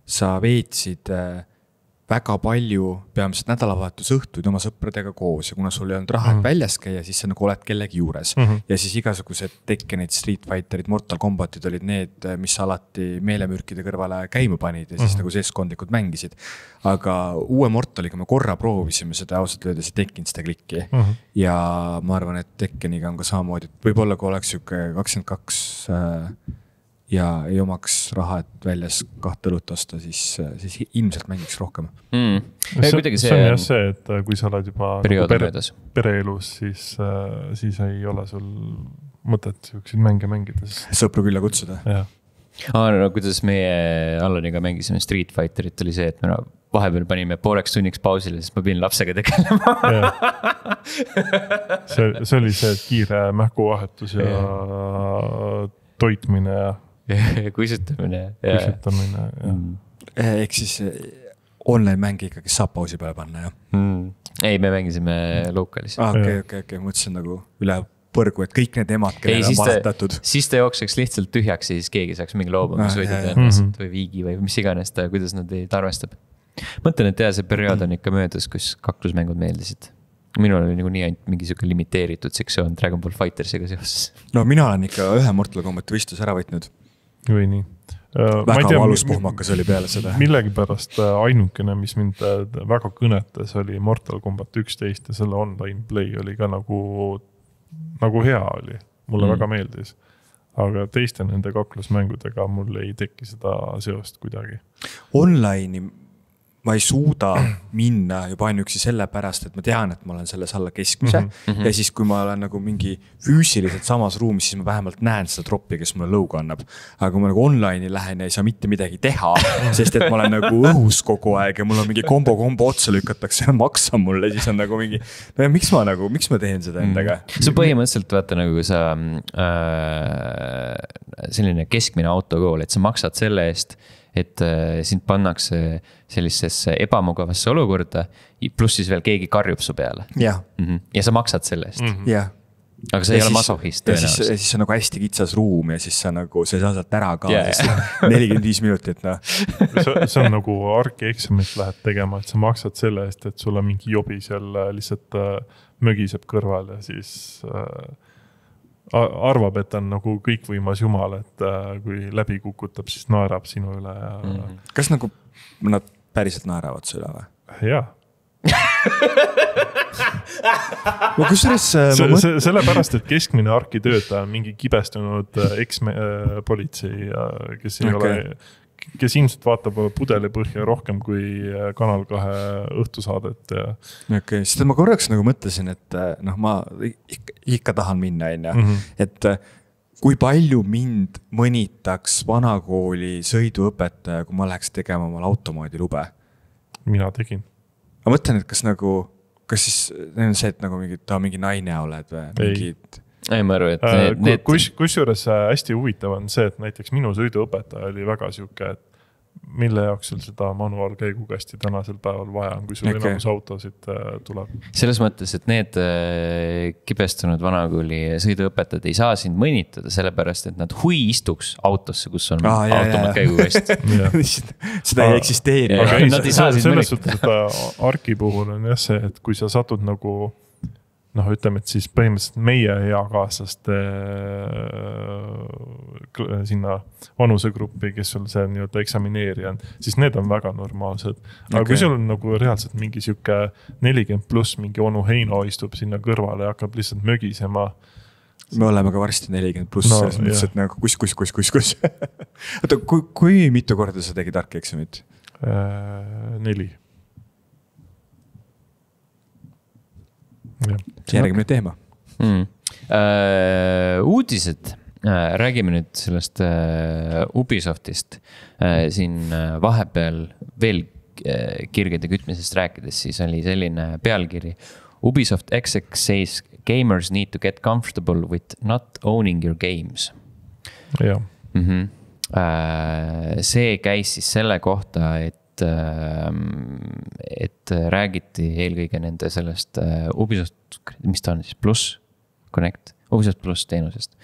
sa veetsid väga palju peamiselt nädalavahetusõhtuid oma sõpradega koos ja kuna sul ei olnud raha, et väljas käia, siis sa nagu oled kellegi juures. Ja siis igasugused Tekkenid, Street Fighterid, Mortal Kombatid olid need, mis alati meelemürkide kõrvale käima panid ja siis nagu seeskondlikud mängisid. Aga uue Mortaliga me korra proovisime seda ausalt öeldes ja tekkinud seda klikki. Ja ma arvan, et Tekkeniga on ka samamoodi, et võib-olla kui oleks 22 ja ei omaks raha, et väljas 2 õlut osta, siis ilmselt mängiks rohkem. See on jah see, et kui sa oled juba pereelus, siis ei ole sul mõtet selliseid mänge mängida. Sõpru külla kutsuda. No, kuidas meie Allaniga mängisime Street Fighterit oli see, et me vahepeal panime pooleks tunniks pausile, sest ma pidin lapsega tegelema. See oli see kiire mähkuvahetus ja toitmine ja kuisutamine. Ehk siis online mängi ikkagi saab pausi peale panna, jah? Ei, me mängisime lokalis. Okei, mõtlesin nagu üle põrgu, et kõik need emad, kellel on valetatud. Siis ta jookseks lihtsalt tühjaks ja siis keegi saaks mingi loobumisvõidud või viigi või mis iganes ta, kuidas nad ei arvestab. Mõtlen, et see periood on ikka möödas, kus kaklusmängud meeldisid. Minul oli nii ainult mingi siuke limiteeritud sektsioon Dragon Ball Fightersiga seoses. No mina olen ikka ühe Mortal Kombati võistlus ära võitnud. Või nii. Väga valus pohmakas oli peale seda. Millegi pärast ainukene, mis mind väga kõnetas, oli Mortal Kombat 11 ja selle online play oli ka nagu hea oli. Mulle väga meeldis. Aga teiste nende kaklusmängudega mul ei teki seda seost kuidagi. Online'i ma ei suuda minna juba ainuüksi selle pärast, et ma tean, et ma olen selles alla keskmise ja siis kui ma olen nagu mingi füüsiliselt samas ruumis, siis ma vähemalt näen seda troppi, kes mulle lõuga annab. Aga kui ma nagu online'i lähen ja ei saa mitte midagi teha, sest et ma olen nagu õhus kogu aeg ja mul on mingi kombo otsa lükatakse ja maksa mulle, siis on nagu mingi, no ja miks ma teen seda endaga? See põhimõtteliselt vaata nagu sa selline keskmine autokool, et sa maksad selle eest, et sind pannakse sellisesse ebamugavasse olukorda, pluss siis veel keegi karjub su peale. Ja sa maksad selle eest. Aga sa ei ole masohist. Ja siis on nagu hästi kitsas ruum ja siis sa nagu, sa ei saa sealt ära ka 45 minutit. See on nagu arki-eksamit lähed tegema, et sa maksad selle eest, et sul on mingi jobi seal lihtsalt mögiseb kõrval ja siis arvab, et on nagu kõikvõimas jumal, et kui läbi kukutab, siis naerab sinu üle. Ja... Kas nagu nad päriselt naeravad su üle või? Jaa. Sellepärast, et keskmine arkitöötaja on mingi kibestunud eks-politsei, kes ei ole... kes ilmselt vaatab pudeli põhja rohkem kui Kanal 2 õhtusaadet. Okei, sest ma korraks nagu mõtlesin, et noh, ma ikka tahan minna, et kui palju mind mõnitaks vanakooli sõiduõpetaja, kui ma läheks tegema omal automaadi lube? Mina tegin. Ma mõtlen, et kas siis on see, et nagu mingi naine oled või mingid... Ei, ma arvu, et kusjuures hästi huvitav on see, et näiteks minu sõiduõpetaja oli väga siuke, et mille jaoks sul seda manuaalkäigukasti tänasel päeval vaja on, kui sul enamus autosid tuleb. Selles mõttes, et need kibestunud vanakooli sõiduõpetajad ei saa sind mõnitada, sellepärast, et nad istuks autosse, kus on automaatkäigukast. Seda ei eksisteeri. Selles suhtes, et arki puhul on jah see, et kui sa satud nagu ütleme, et siis põhimõtteliselt meie eakaaslaste sinna vanusegruppi, kes sul see nii-öelda eksamineerija on, siis need on väga normaalsed. Aga kui sul on nagu reaalselt mingi siuke 40 pluss mingi onu Heino istub sinna kõrvale ja hakkab lihtsalt mögisema. Me oleme ka varsti 40 pluss, selles mõttes, et nagu kus. Oota, kui mitu korda sa tegid arki-eksamit? 4. Järgmine teema. Uudised. räägime nüüd sellest Ubisoftist. Siin vahepeal veel kirgede kütmisest rääkides, siis oli selline pealkiri. Ubisoft exec says gamers need to get comfortable with not owning your games. Jah. See käis siis selle kohta, et räägiti eelkõige nende sellest Ubisoft, mis ta on siis, Plus Connect, Ubisoft Plus teenusest.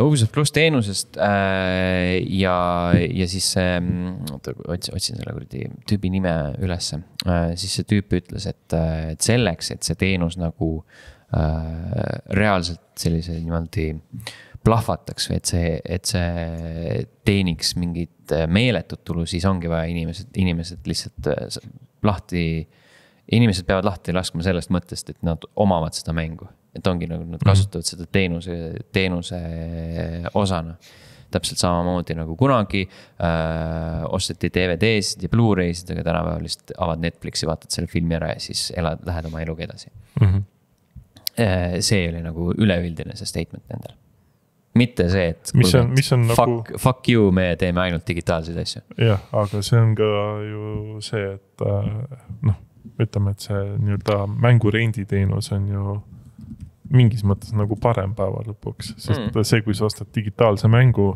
Ubisoft Plus teenusest ja siis otsin selle tüübi nime ülesse. Siis see tüüp ütles, et selleks, et see teenus nagu reaalselt sellise niimoodi plahvataks või et see teeniks mingit meeletut tulu, siis ongi vaja inimesed lihtsalt inimesed peavad lahti laskma sellest mõttest, et nad omavad seda mängu. Et ongi nagu nad kasutavad seda teenuse osana. Täpselt samamoodi nagu kunagi osteti DVD-sid ja Blu-raysid, aga tänapäeval lihtsalt avad Netflixi, vaatad selle filmi ära ja siis lähed oma eluga edasi. See oli nagu üleüldine see statement nendel. Mitte see, et mis on fuck you, me teeme ainult digitaalseid asju. Jah, aga see on ka ju see, et ütleme, et see nii-öelda mängurenditeenus on ju mingis mõttes nagu parem päeva lõpuks, sest see, kui sa ostad digitaalse mängu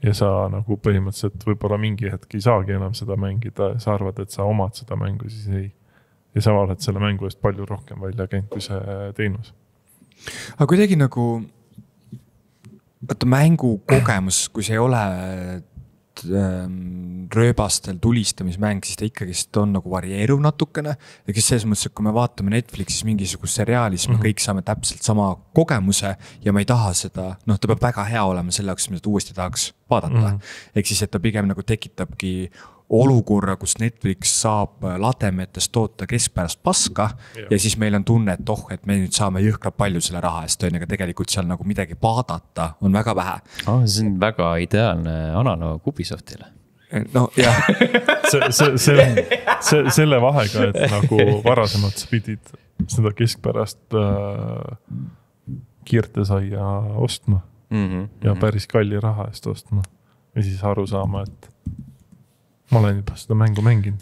ja sa nagu põhimõtteliselt võib-olla mingi hetk ei saagi enam seda mängida ja sa arvad, et sa omad seda mängu, siis ei. Ja sa oled selle mängu eest palju rohkem välja käinud kui see teenus. Aga kuidagi nagu mängu kogemus, kui see ei ole rööbastel tulistamismäng, siis ta ikkagi on nagu varieeruv natukene. Ja kes selles mõttes, et kui me vaatame Netflixis mingisugust seriaali, siis me kõik saame täpselt sama kogemuse ja ma ei taha seda, ta peab väga hea olema selle jaoks, mida ta uuesti tahaks vaadata. Ehk siis, et ta pigem nagu tekitabki olukorra, kus Netflix saab lademetest toota keskpärast paska ja siis meil on tunne, et et me nüüd saame jõhkralt palju selle raha eest, aga tegelikult seal nagu midagi vaadata on väga vähe. See on väga ideaalne analoog Ubisoftile. No jah. selle vahega, et nagu varasemalt sa pidid seda keskpärast kiirtesaia ostma ja päris kalli raha eest ostma ja siis aru saama, et ma olen juba seda mängu mänginud.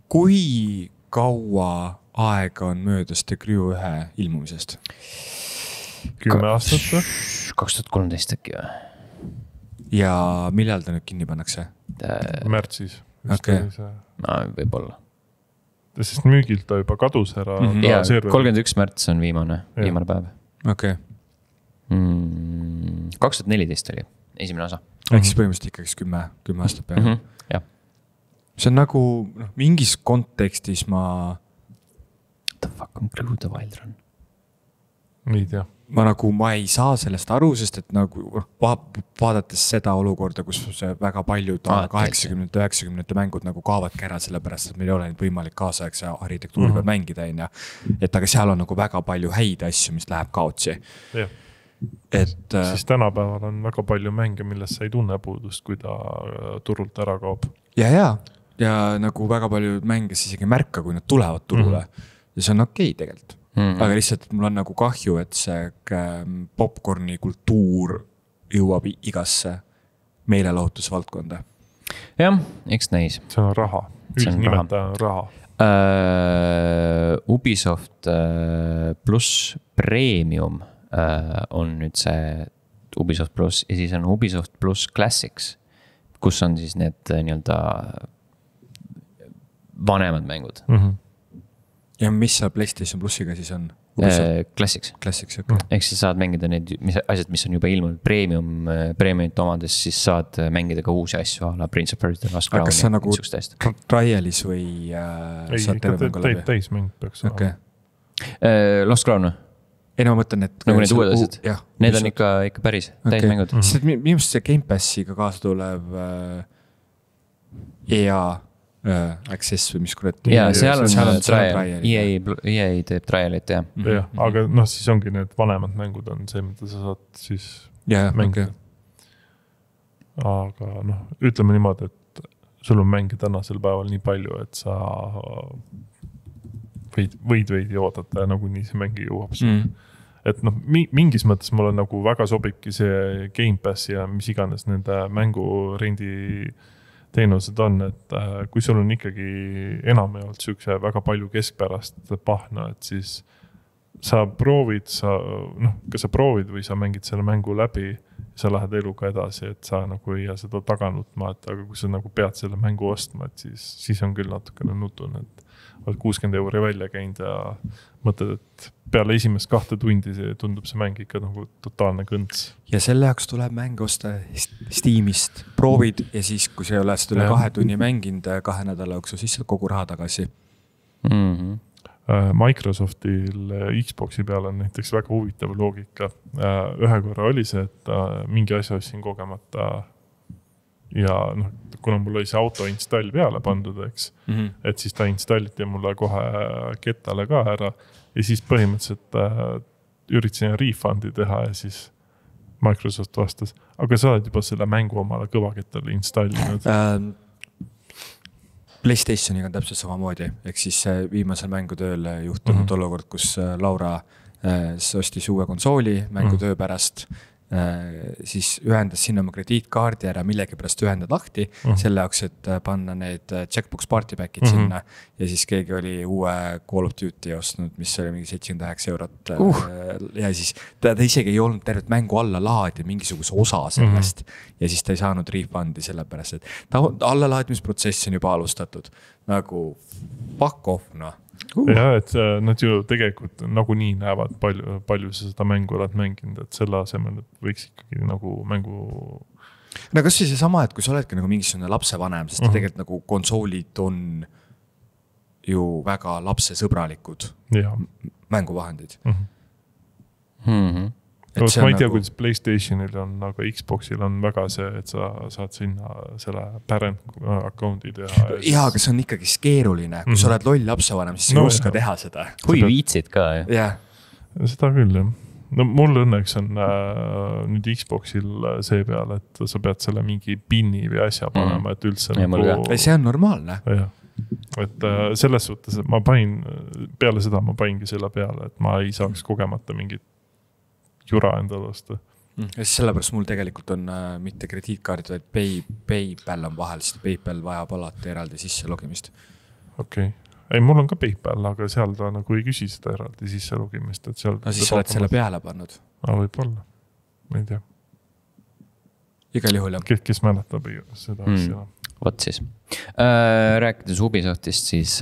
Kui kaua aega on möödas The Crew 1 ilmumisest? 10 aastat või? 2013 äkki või? Ja millal ta nüüd kinni pannakse? Märtsis. Okay. Võib-olla. Sest müügilt ta juba kadus ära. Ja 31 märts on viimane päev. Okay. 2014 oli esimene osa. Ehk siis põhimõtteliselt ikkagi 10 aastat peale. Jah. See on nagu mingis kontekstis What the fuck on Crew the Wild Run? Ei tea. Ma ei saa sellest aru, sest et nagu vaadates seda olukorda, kus see väga paljud 80-90 mängud nagu kaavadki ära sellepärast, et meil ei ole nüüd võimalik kaasaegse arhitektuuri peal mängida. Et aga seal on nagu väga palju häid asju, mis läheb kaotsi. Jah. Siis tänapäeval on väga palju mänge, millest sa ei tunne puudust, kui ta turult ära kaob. Ja nagu väga palju mänge siis isegi märka, kui nad tulevad turule. Ja see on okei tegelikult. Aga lihtsalt mul on nagu kahju, et see popcorni kultuur jõuab igasse meelelahutusvaldkonda. Jah, eks näis. See on raha. Üldnimetaja on raha. Ubisoft Plus Premium on nüüd see Ubisoft Plus ja siis on Ubisoft Plus Classics, kus on siis need nii-öelda vanemad mängud. Ja mis see PlayStation Plusiga siis on? Classics. Classics, okay. Ehk siis saad mängida need asjad, mis on juba ilmunud premiumit omades, siis saad mängida ka uusi asju ala Prince of Persia, Lost Crown. Kas see on nagu trialis või saad terve mängu läbi? Täismäng peaks okay. Lost Crown? Ei, no ma mõtlen, et nagu need uued asjad. Need on ikka päris täismängud. Sest minu see Game Passiga kaasa tulev EA Access või mis kurat. Ja seal on trial. EA teeb trialit, jah. Aga siis ongi need vanemad mängud on see, mida sa saad siis mängida. Aga ütleme niimoodi, et sul on mänge tänasel päeval nii palju, et sa võid oodata ja nagunii see mängi jõuab. et noh, mingis mõttes mulle nagu väga sobibki see Gamepassi ja mis iganes nende mängurendi teenused on, et kui sul on ikkagi enamjaolt siukse väga palju keskpärast pahna, et siis sa proovid, kas sa proovid või sa mängid selle mängu läbi, sa lähed eluga edasi, et sa nagu ei jää seda taga nutma, et aga kui sa nagu pead selle mängu ostma, et siis on küll natukene nutun, et oled 60 € välja käinud ja mõtled, et peale esimest 2 tundi tundub see mäng ikka nagu totaalne kõnts. Ja selle jaoks tuleb mäng osta Steamist, proovid ja siis, kui sa ei ole seda üle 2 tunni mänginud 2 nädala jooksul, siis kogu raha tagasi. Microsoftil Xboxi peal on näiteks väga huvitav loogika. Ühe korra oli see, et mingi asja ostsin kogemata ja noh, kuna mul oli see auto install peale pandud, eks, et siis ta installiti mulle kohe kettale ka ära ja siis põhimõtteliselt üritasin refundi teha ja siis Microsoft vastas, aga sa oled juba selle mängu omale kõvakettale installinud. PlayStationiga on täpselt samamoodi, ehk siis viimasel mängutööl juhtunud olukord, kus Laura ostis uue konsooli mängutöö pärast, siis ühendas sinna oma krediitkaardi ära, millegi pärast ühendad lahti, selle jaoks, et panna need Checkbox Party Packid sinna ja siis keegi oli uue Call of Duty ostnud, mis oli mingi 79 € ja siis ta isegi ei olnud tervet mängu alla laadi mingisuguse osa sellest ja siis ta ei saanud refundi sellepärast, et ta allalaadimisprotsess on juba alustatud nagu fuck off, noh. Ja, et nad ju tegelikult nagunii näevad palju sa seda mängu oled mänginud, et selle asemel, et võiks ikkagi nagu mängu... No kas siis see sama, et kui sa oledki nagu mingisugune lapsevanem, sest tegelikult nagu konsoolid on ju väga lapsesõbralikud mänguvahendid. Ma ei tea, kuidas PlayStationil on, aga Xboxil on väga see, et sa saad sinna selle parent account'i teha. Jaa, aga see on ikkagi keeruline. Kui sa oled loll lapsevanem, siis sa ei oska teha seda. Kui viitsid ka, jah? Seda küll, jah. No mul õnneks on nüüd Xboxil see peal, et sa pead selle mingi pinni või asja panema, et üldse see on normaalne. Jah. Et selles suhtes, et ma panin, peale seda ma paningi selle peale, et ma ei saaks kogemata mingit jura endale osta. Ja siis sellepärast mul tegelikult on mitte krediitkaardid, vaid PayPal on vahel, sest PayPal vajab alati eraldi sisse logimist. Okei. Ei, mul on ka PayPal, aga seal ta nagu ei küsi seda eraldi sisse logimist. Et seal no siis sa oled selle peale pannud. Võib-olla. Ma ei tea. Igal juhul, jah. Kes mäletab seda asja. Võt siis. Rääkides Ubisoftist, siis...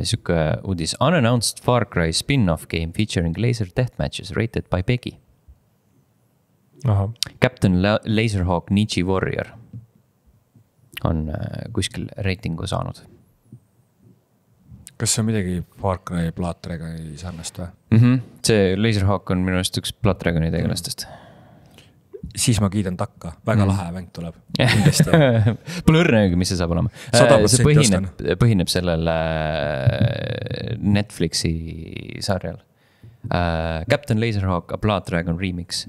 Suke uudis Unannounced Far Cry spin-off game featuring laser deathmatches rated by PEGI. Captain Laserhawk Nichi Warrior on kuskil reitingu saanud. Kas see on midagi Far Cry Blood Dragoni sarnast või? See Laserhawk on minu arust üks Blood Dragoni tegelastest. Siis ma kiidan takka, väga lahe mäng tuleb. Pole õrnegi, mis see saab olema. See põhineb sellel Netflixi sarjal. Captain Laserhawk A Blood Dragon Remix,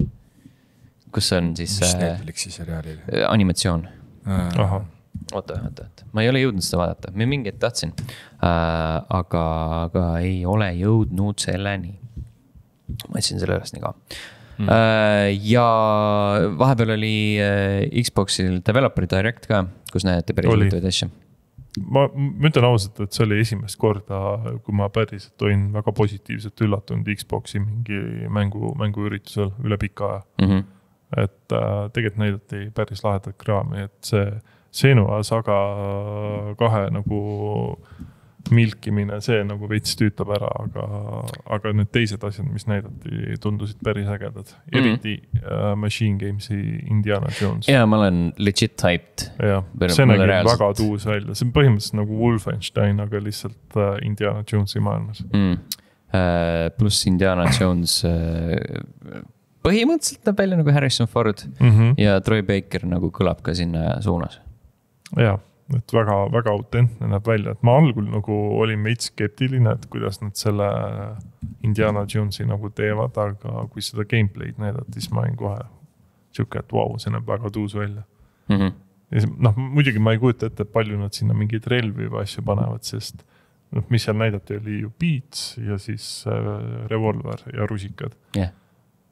kus on siis Netflixi seriaalil? Animatsioon. Oota. Ma ei ole jõudnud seda vaadata. Ma mingit tahtsin, aga ei ole jõudnud selleni. Ma etsin selle üles nii ka. Ja vahepeal oli Xboxil Developer Direct ka, kus näete päris huvitavaid asja. Ma ütlen ausalt, et see oli esimest korda, kui ma päriselt olin väga positiivselt üllatunud Xboxi mingi mänguüritusel üle pika aja. Et tegelikult näidati päris lahedat kraami, et see Senua Saga 2 nagu milkimine, see nagu veits tüütab ära, aga need teised asjad, mis näidati, tundusid päris ägedad. Eriti Machine Gamesi Indiana Jones. Ja, ma olen legit hyped. Ja, see nägi väga tuus välja. See on põhimõtteliselt nagu Wolfenstein, aga lihtsalt Indiana Jonesi maailmas. Plus Indiana Jones põhimõtteliselt näeb välja nagu Harrison Ford ja Troy Baker nagu kõlab ka sinna suunas. Jaa. Et väga autentne näeb välja, et ma algul nagu olin veits skeptiline, et kuidas nad selle Indiana Jonesi nagu teevad, aga kui seda gameplay'd näidati, siis ma olin kohe siuke, et vau, see näeb väga tuus välja. Ja muidugi ma ei kujuta ette, palju nad sinna mingid relvi või asju panevad, sest mis seal näidati, oli ju Beats ja siis Revolver ja rusikad. jah.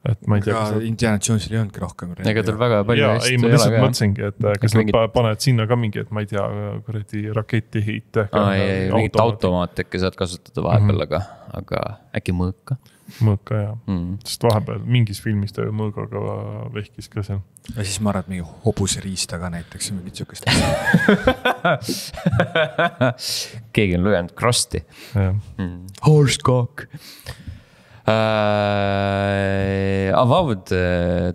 Et ma ei tea, kas Indiana Jonesil ei olnudki rohkem. Ega tal väga palju hästi ei ole. Ma lihtsalt mõtlesingi, et kas nad paned sinna ka mingi, et ma ei tea, kuradi raketiheite. Mingit automaat äkki saad kasutada vahepeal, aga äkki mõõka. Mõõka, jah. Sest vahepeal mingis filmis ta ju mõõgaga vehkis ka seal. Ja siis ma arvan, et mingi hobuseriista ka näiteks. Mingit sükest. Keegi on lugenud Krusti. Horsecock. Avowed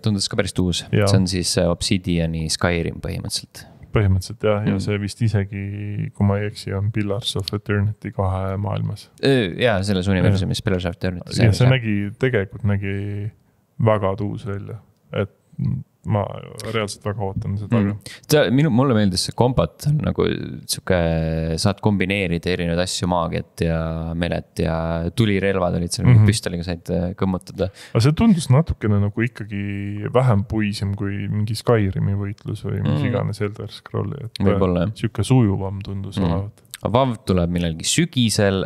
tundus ka päris uus. See on siis Obsidiani Skyrim põhimõtteliselt. Põhimõtteliselt jah, ja see vist isegi, kui ma ei eksi, on Pillars of Eternity 2 maailmas. Jaa, selles universumis Pillars of Eternity. Ja see tegelikult nägi väga tuus välja, et ma reaalselt väga ootan seda. Mulle meeldis see kombat, nagu siuke, saad kombineerida erinevaid asju, maagiat ja melet ja tulirelvad olid seal, püstoliga said kõmmutada. Aga see tundus natukene nagu ikkagi vähem puisem kui mingi Skyrimi võitlus või mis iganes Elder Scrolli. Võib-olla, jah. Siuke sujuvam tundus olevat. Avowed tuleb millalgi sügisel,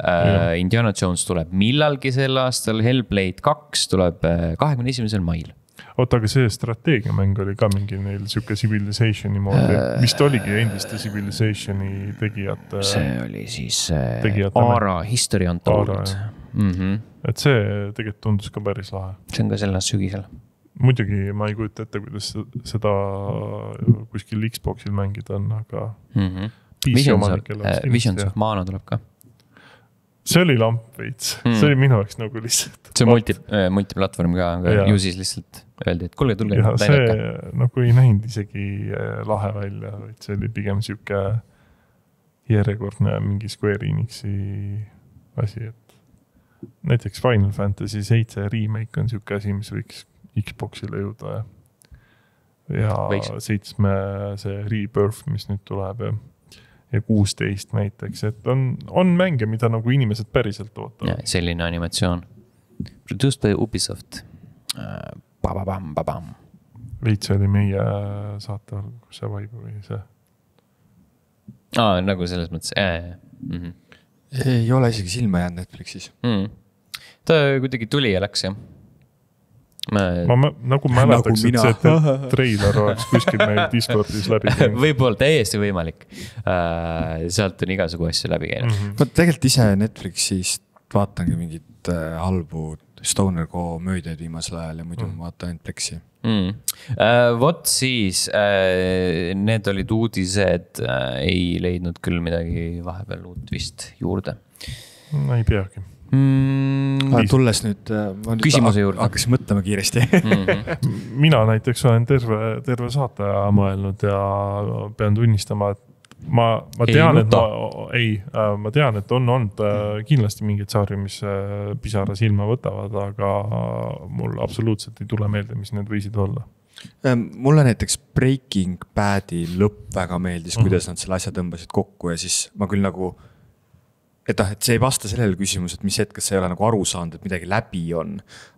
Indiana Jones tuleb millalgi sel aastal, Hellblade 2 tuleb 21. mail. Oota, aga see strateegiamäng oli ka mingi neil siuke Civilizationi moodi, vist oligi endiste Civilizationi tegijate. See oli siis Aara History Untold. Et see tegelikult tundus ka päris lahe. See on ka selle sügisel. Muidugi ma ei kujuta ette, kuidas seda kuskil Xboxil mängida on, aga Visions of Mana tuleb ka. See oli lamp veits, see oli minu jaoks nagu lihtsalt. See on multiplatvorm ka, aga ju siis lihtsalt öeldi, et kuulge, tulge. Ja see nagu ei näinud isegi lahe välja, vaid see oli pigem siuke järjekordne mingi Square Enixi asi, et näiteks Final Fantasy 7 remake on siuke asi, mis võiks Xboxile jõuda ja 7 see Rebirth, mis nüüd tuleb ja 16 näiteks, et on mänge, mida nagu inimesed päriselt ootavad. Selline animatsioon. Produced by Ubisoft. Bababam. Veits oli meie saate all, kus see vibe või see? Nagu selles mõttes. Ei ole isegi silma jäänud Netflixis. Ta kuidagi tuli ja läks, jah. Ma nagu mäletaks, et see treiler oleks kuskil meil Discordis läbi käinud. Võib-olla täiesti võimalik. Sealt on igasugu asju läbi käinud. Tegelikult ise Netflixist vaatangi mingit halbu Stoner Go möödaid viimasel ajal ja muidu vaatan Netflixi. Vot siis, need olid uudised, ei leidnud küll midagi vahepeal uut vist juurde. Ei peagi. Tulles nüüd küsimuse juurde. Hakkas mõtlema kiiresti. Mina näiteks olen terve saate mõelnud ja pean tunnistama, et ma tean, et on olnud kindlasti mingid saari, mis pisara silma võtavad, aga mul absoluutselt ei tule meelde, mis need võisid olla. Mulle näiteks Breaking Badi lõpp väga meeldis, kuidas nad selle asja tõmbasid kokku ja siis ma küll nagu et see ei vasta sellele küsimus, et mis hetkest sa ei ole nagu aru saanud, et midagi läbi on.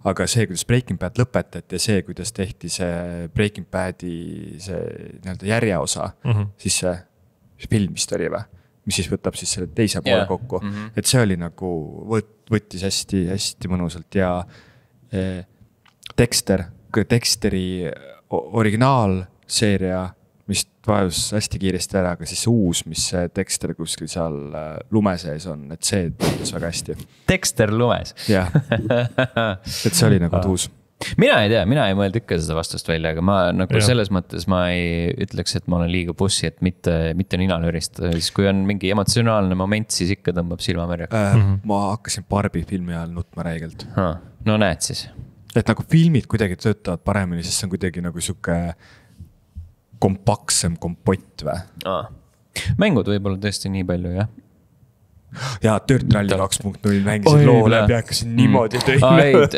Aga see, kuidas Breaking Bad lõpetati ja see, kuidas tehti see Breaking Badi see järjeosa, siis see film vist oli või? Mis siis võtab siis selle teise poole kokku. Et see oli nagu, võttis hästi mõnusalt ja Dexteri originaalseeria mis vajus hästi kiiresti ära, aga siis uus, mis Dexter kuskil seal lume sees on, et see tundus väga hästi. Dexter lumes? Jah, et see oli nagu tuus. Mina ei tea, mina ei mõelnud ikka seda vastust välja, aga ma nagu selles mõttes ma ei ütleks, et ma olen liiga bussi, et mitte nina löristada. Siis kui on mingi emotsionaalne moment, siis ikka tõmbab silma märja. Ma hakkasin Barbi filmi ajal nutma räigelt. No näed siis. Et nagu filmid kuidagi töötavad paremini, sest see on kuidagi nagu siuke kompaktsem kompott või? Mängud võib-olla tõesti nii palju, jah? Ja Dirt Rally 2.0 mängisid loo läbi, hakkasin niimoodi teile.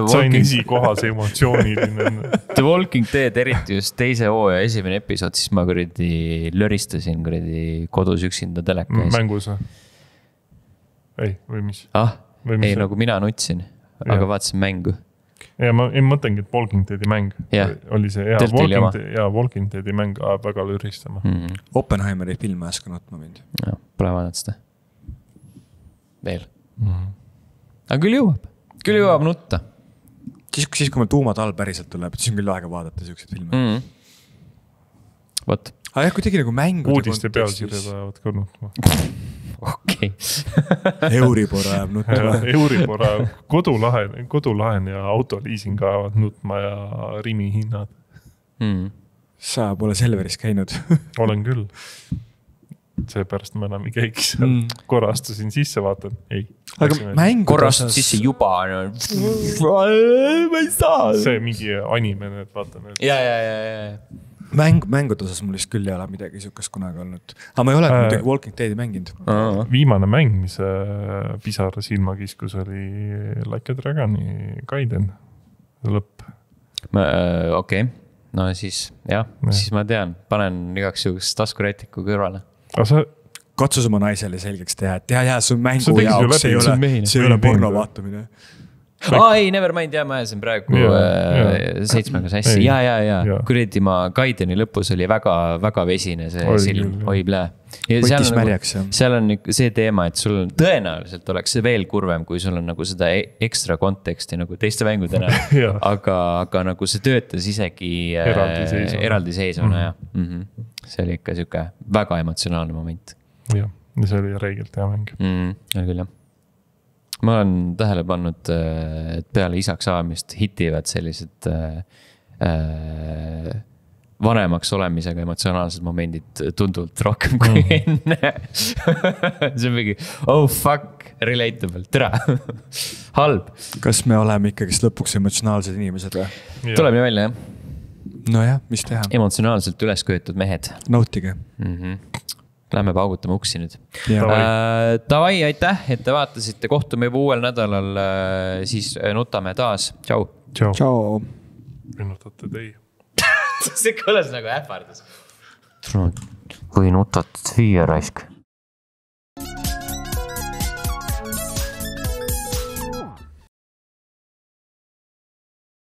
Sain esikohas emotsiooniline. The Walking Dead, eriti just teise hooaja esimene episood, siis ma löristasin kodus üksinda teleka ees. Mängus või? Ei, või mis? Ei, nagu mina nutsin, aga vaatasin mängu. Ja ma mõtlengi, et Walking Deadi mäng oli see Walking Deadi mäng väga lüristama. Oppenheimeri film äsken nutma mind. Pole vaadanud seda. veel. Aga küll jõuab nutta. Siis kui meil tuumatalv päriselt tuleb, siis on küll aega vaadata siukseid filme. Vot. Aga jah, kui tegi nagu mängude uudiste pealkirjad ajavad ka nutma. Okei. Euribor ajab nutma. Euribor ajab kodulaen ja autoliising ajavad nutma ja Rimi hinnad. Sa pole Selveris käinud. Olen küll. Seepärast ma enam ei käigi seal. Korra astusin sisse, vaatan. Ei. Aga mängude korra astud sisse juba. Ma ei saa. See mingi anime, need vaatan. Ja. Mängude osas mul vist küll ei ole midagi siukest kunagi olnud. Aga ma ei ole muidugi Walking Deadi mänginud. Viimane mäng, mis pisara silma kiskus, oli Like a Dragoni Gaiden lõpp. Okei. No siis, siis ma tean. Panen igaks juhuks taskurätiku kõrvale. Katsus oma naisele selgeks teha, et see on mängu jaoks, see ei ole porno vaatamine. Ei, never mind, ma ajasin praegu 7 sassi. Ja. Kuredi ma Gaideni lõpus oli väga vesine see silm. Oi plee. Võttis märjaks. Seal on see teema, et sul tõenäoliselt oleks see veel kurvem, kui sul on nagu seda ekstra konteksti nagu teiste mängudena. aga nagu see töötas isegi eraldiseisvana. See oli ikka siuke väga emotsionaalne moment. Ja see oli reegelt hea mäng. Oli küll, jah. Ma olen tähele pannud, et peale isaks saamist hitivad sellised vanemaks olemisega emotsionaalsed momendid tunduvalt rohkem kui enne. See on mingi, oh fuck, relatable, tere. Halb. Kas me oleme ikkagi lõpuks emotsionaalsed inimesed või? Tuleb nii välja, jah. No jah, mis teha? Emotsionaalselt üles köetud mehed. Nautige. Lähme paugutame uksi nüüd. Tavai, aitäh, et te vaatasite. Kohtume juba uuel nädalal. Siis nutame taas. Tšau. Tšau. Nutate teie. See kõlas nagu ähvardus. Kui nutat süüa raisk.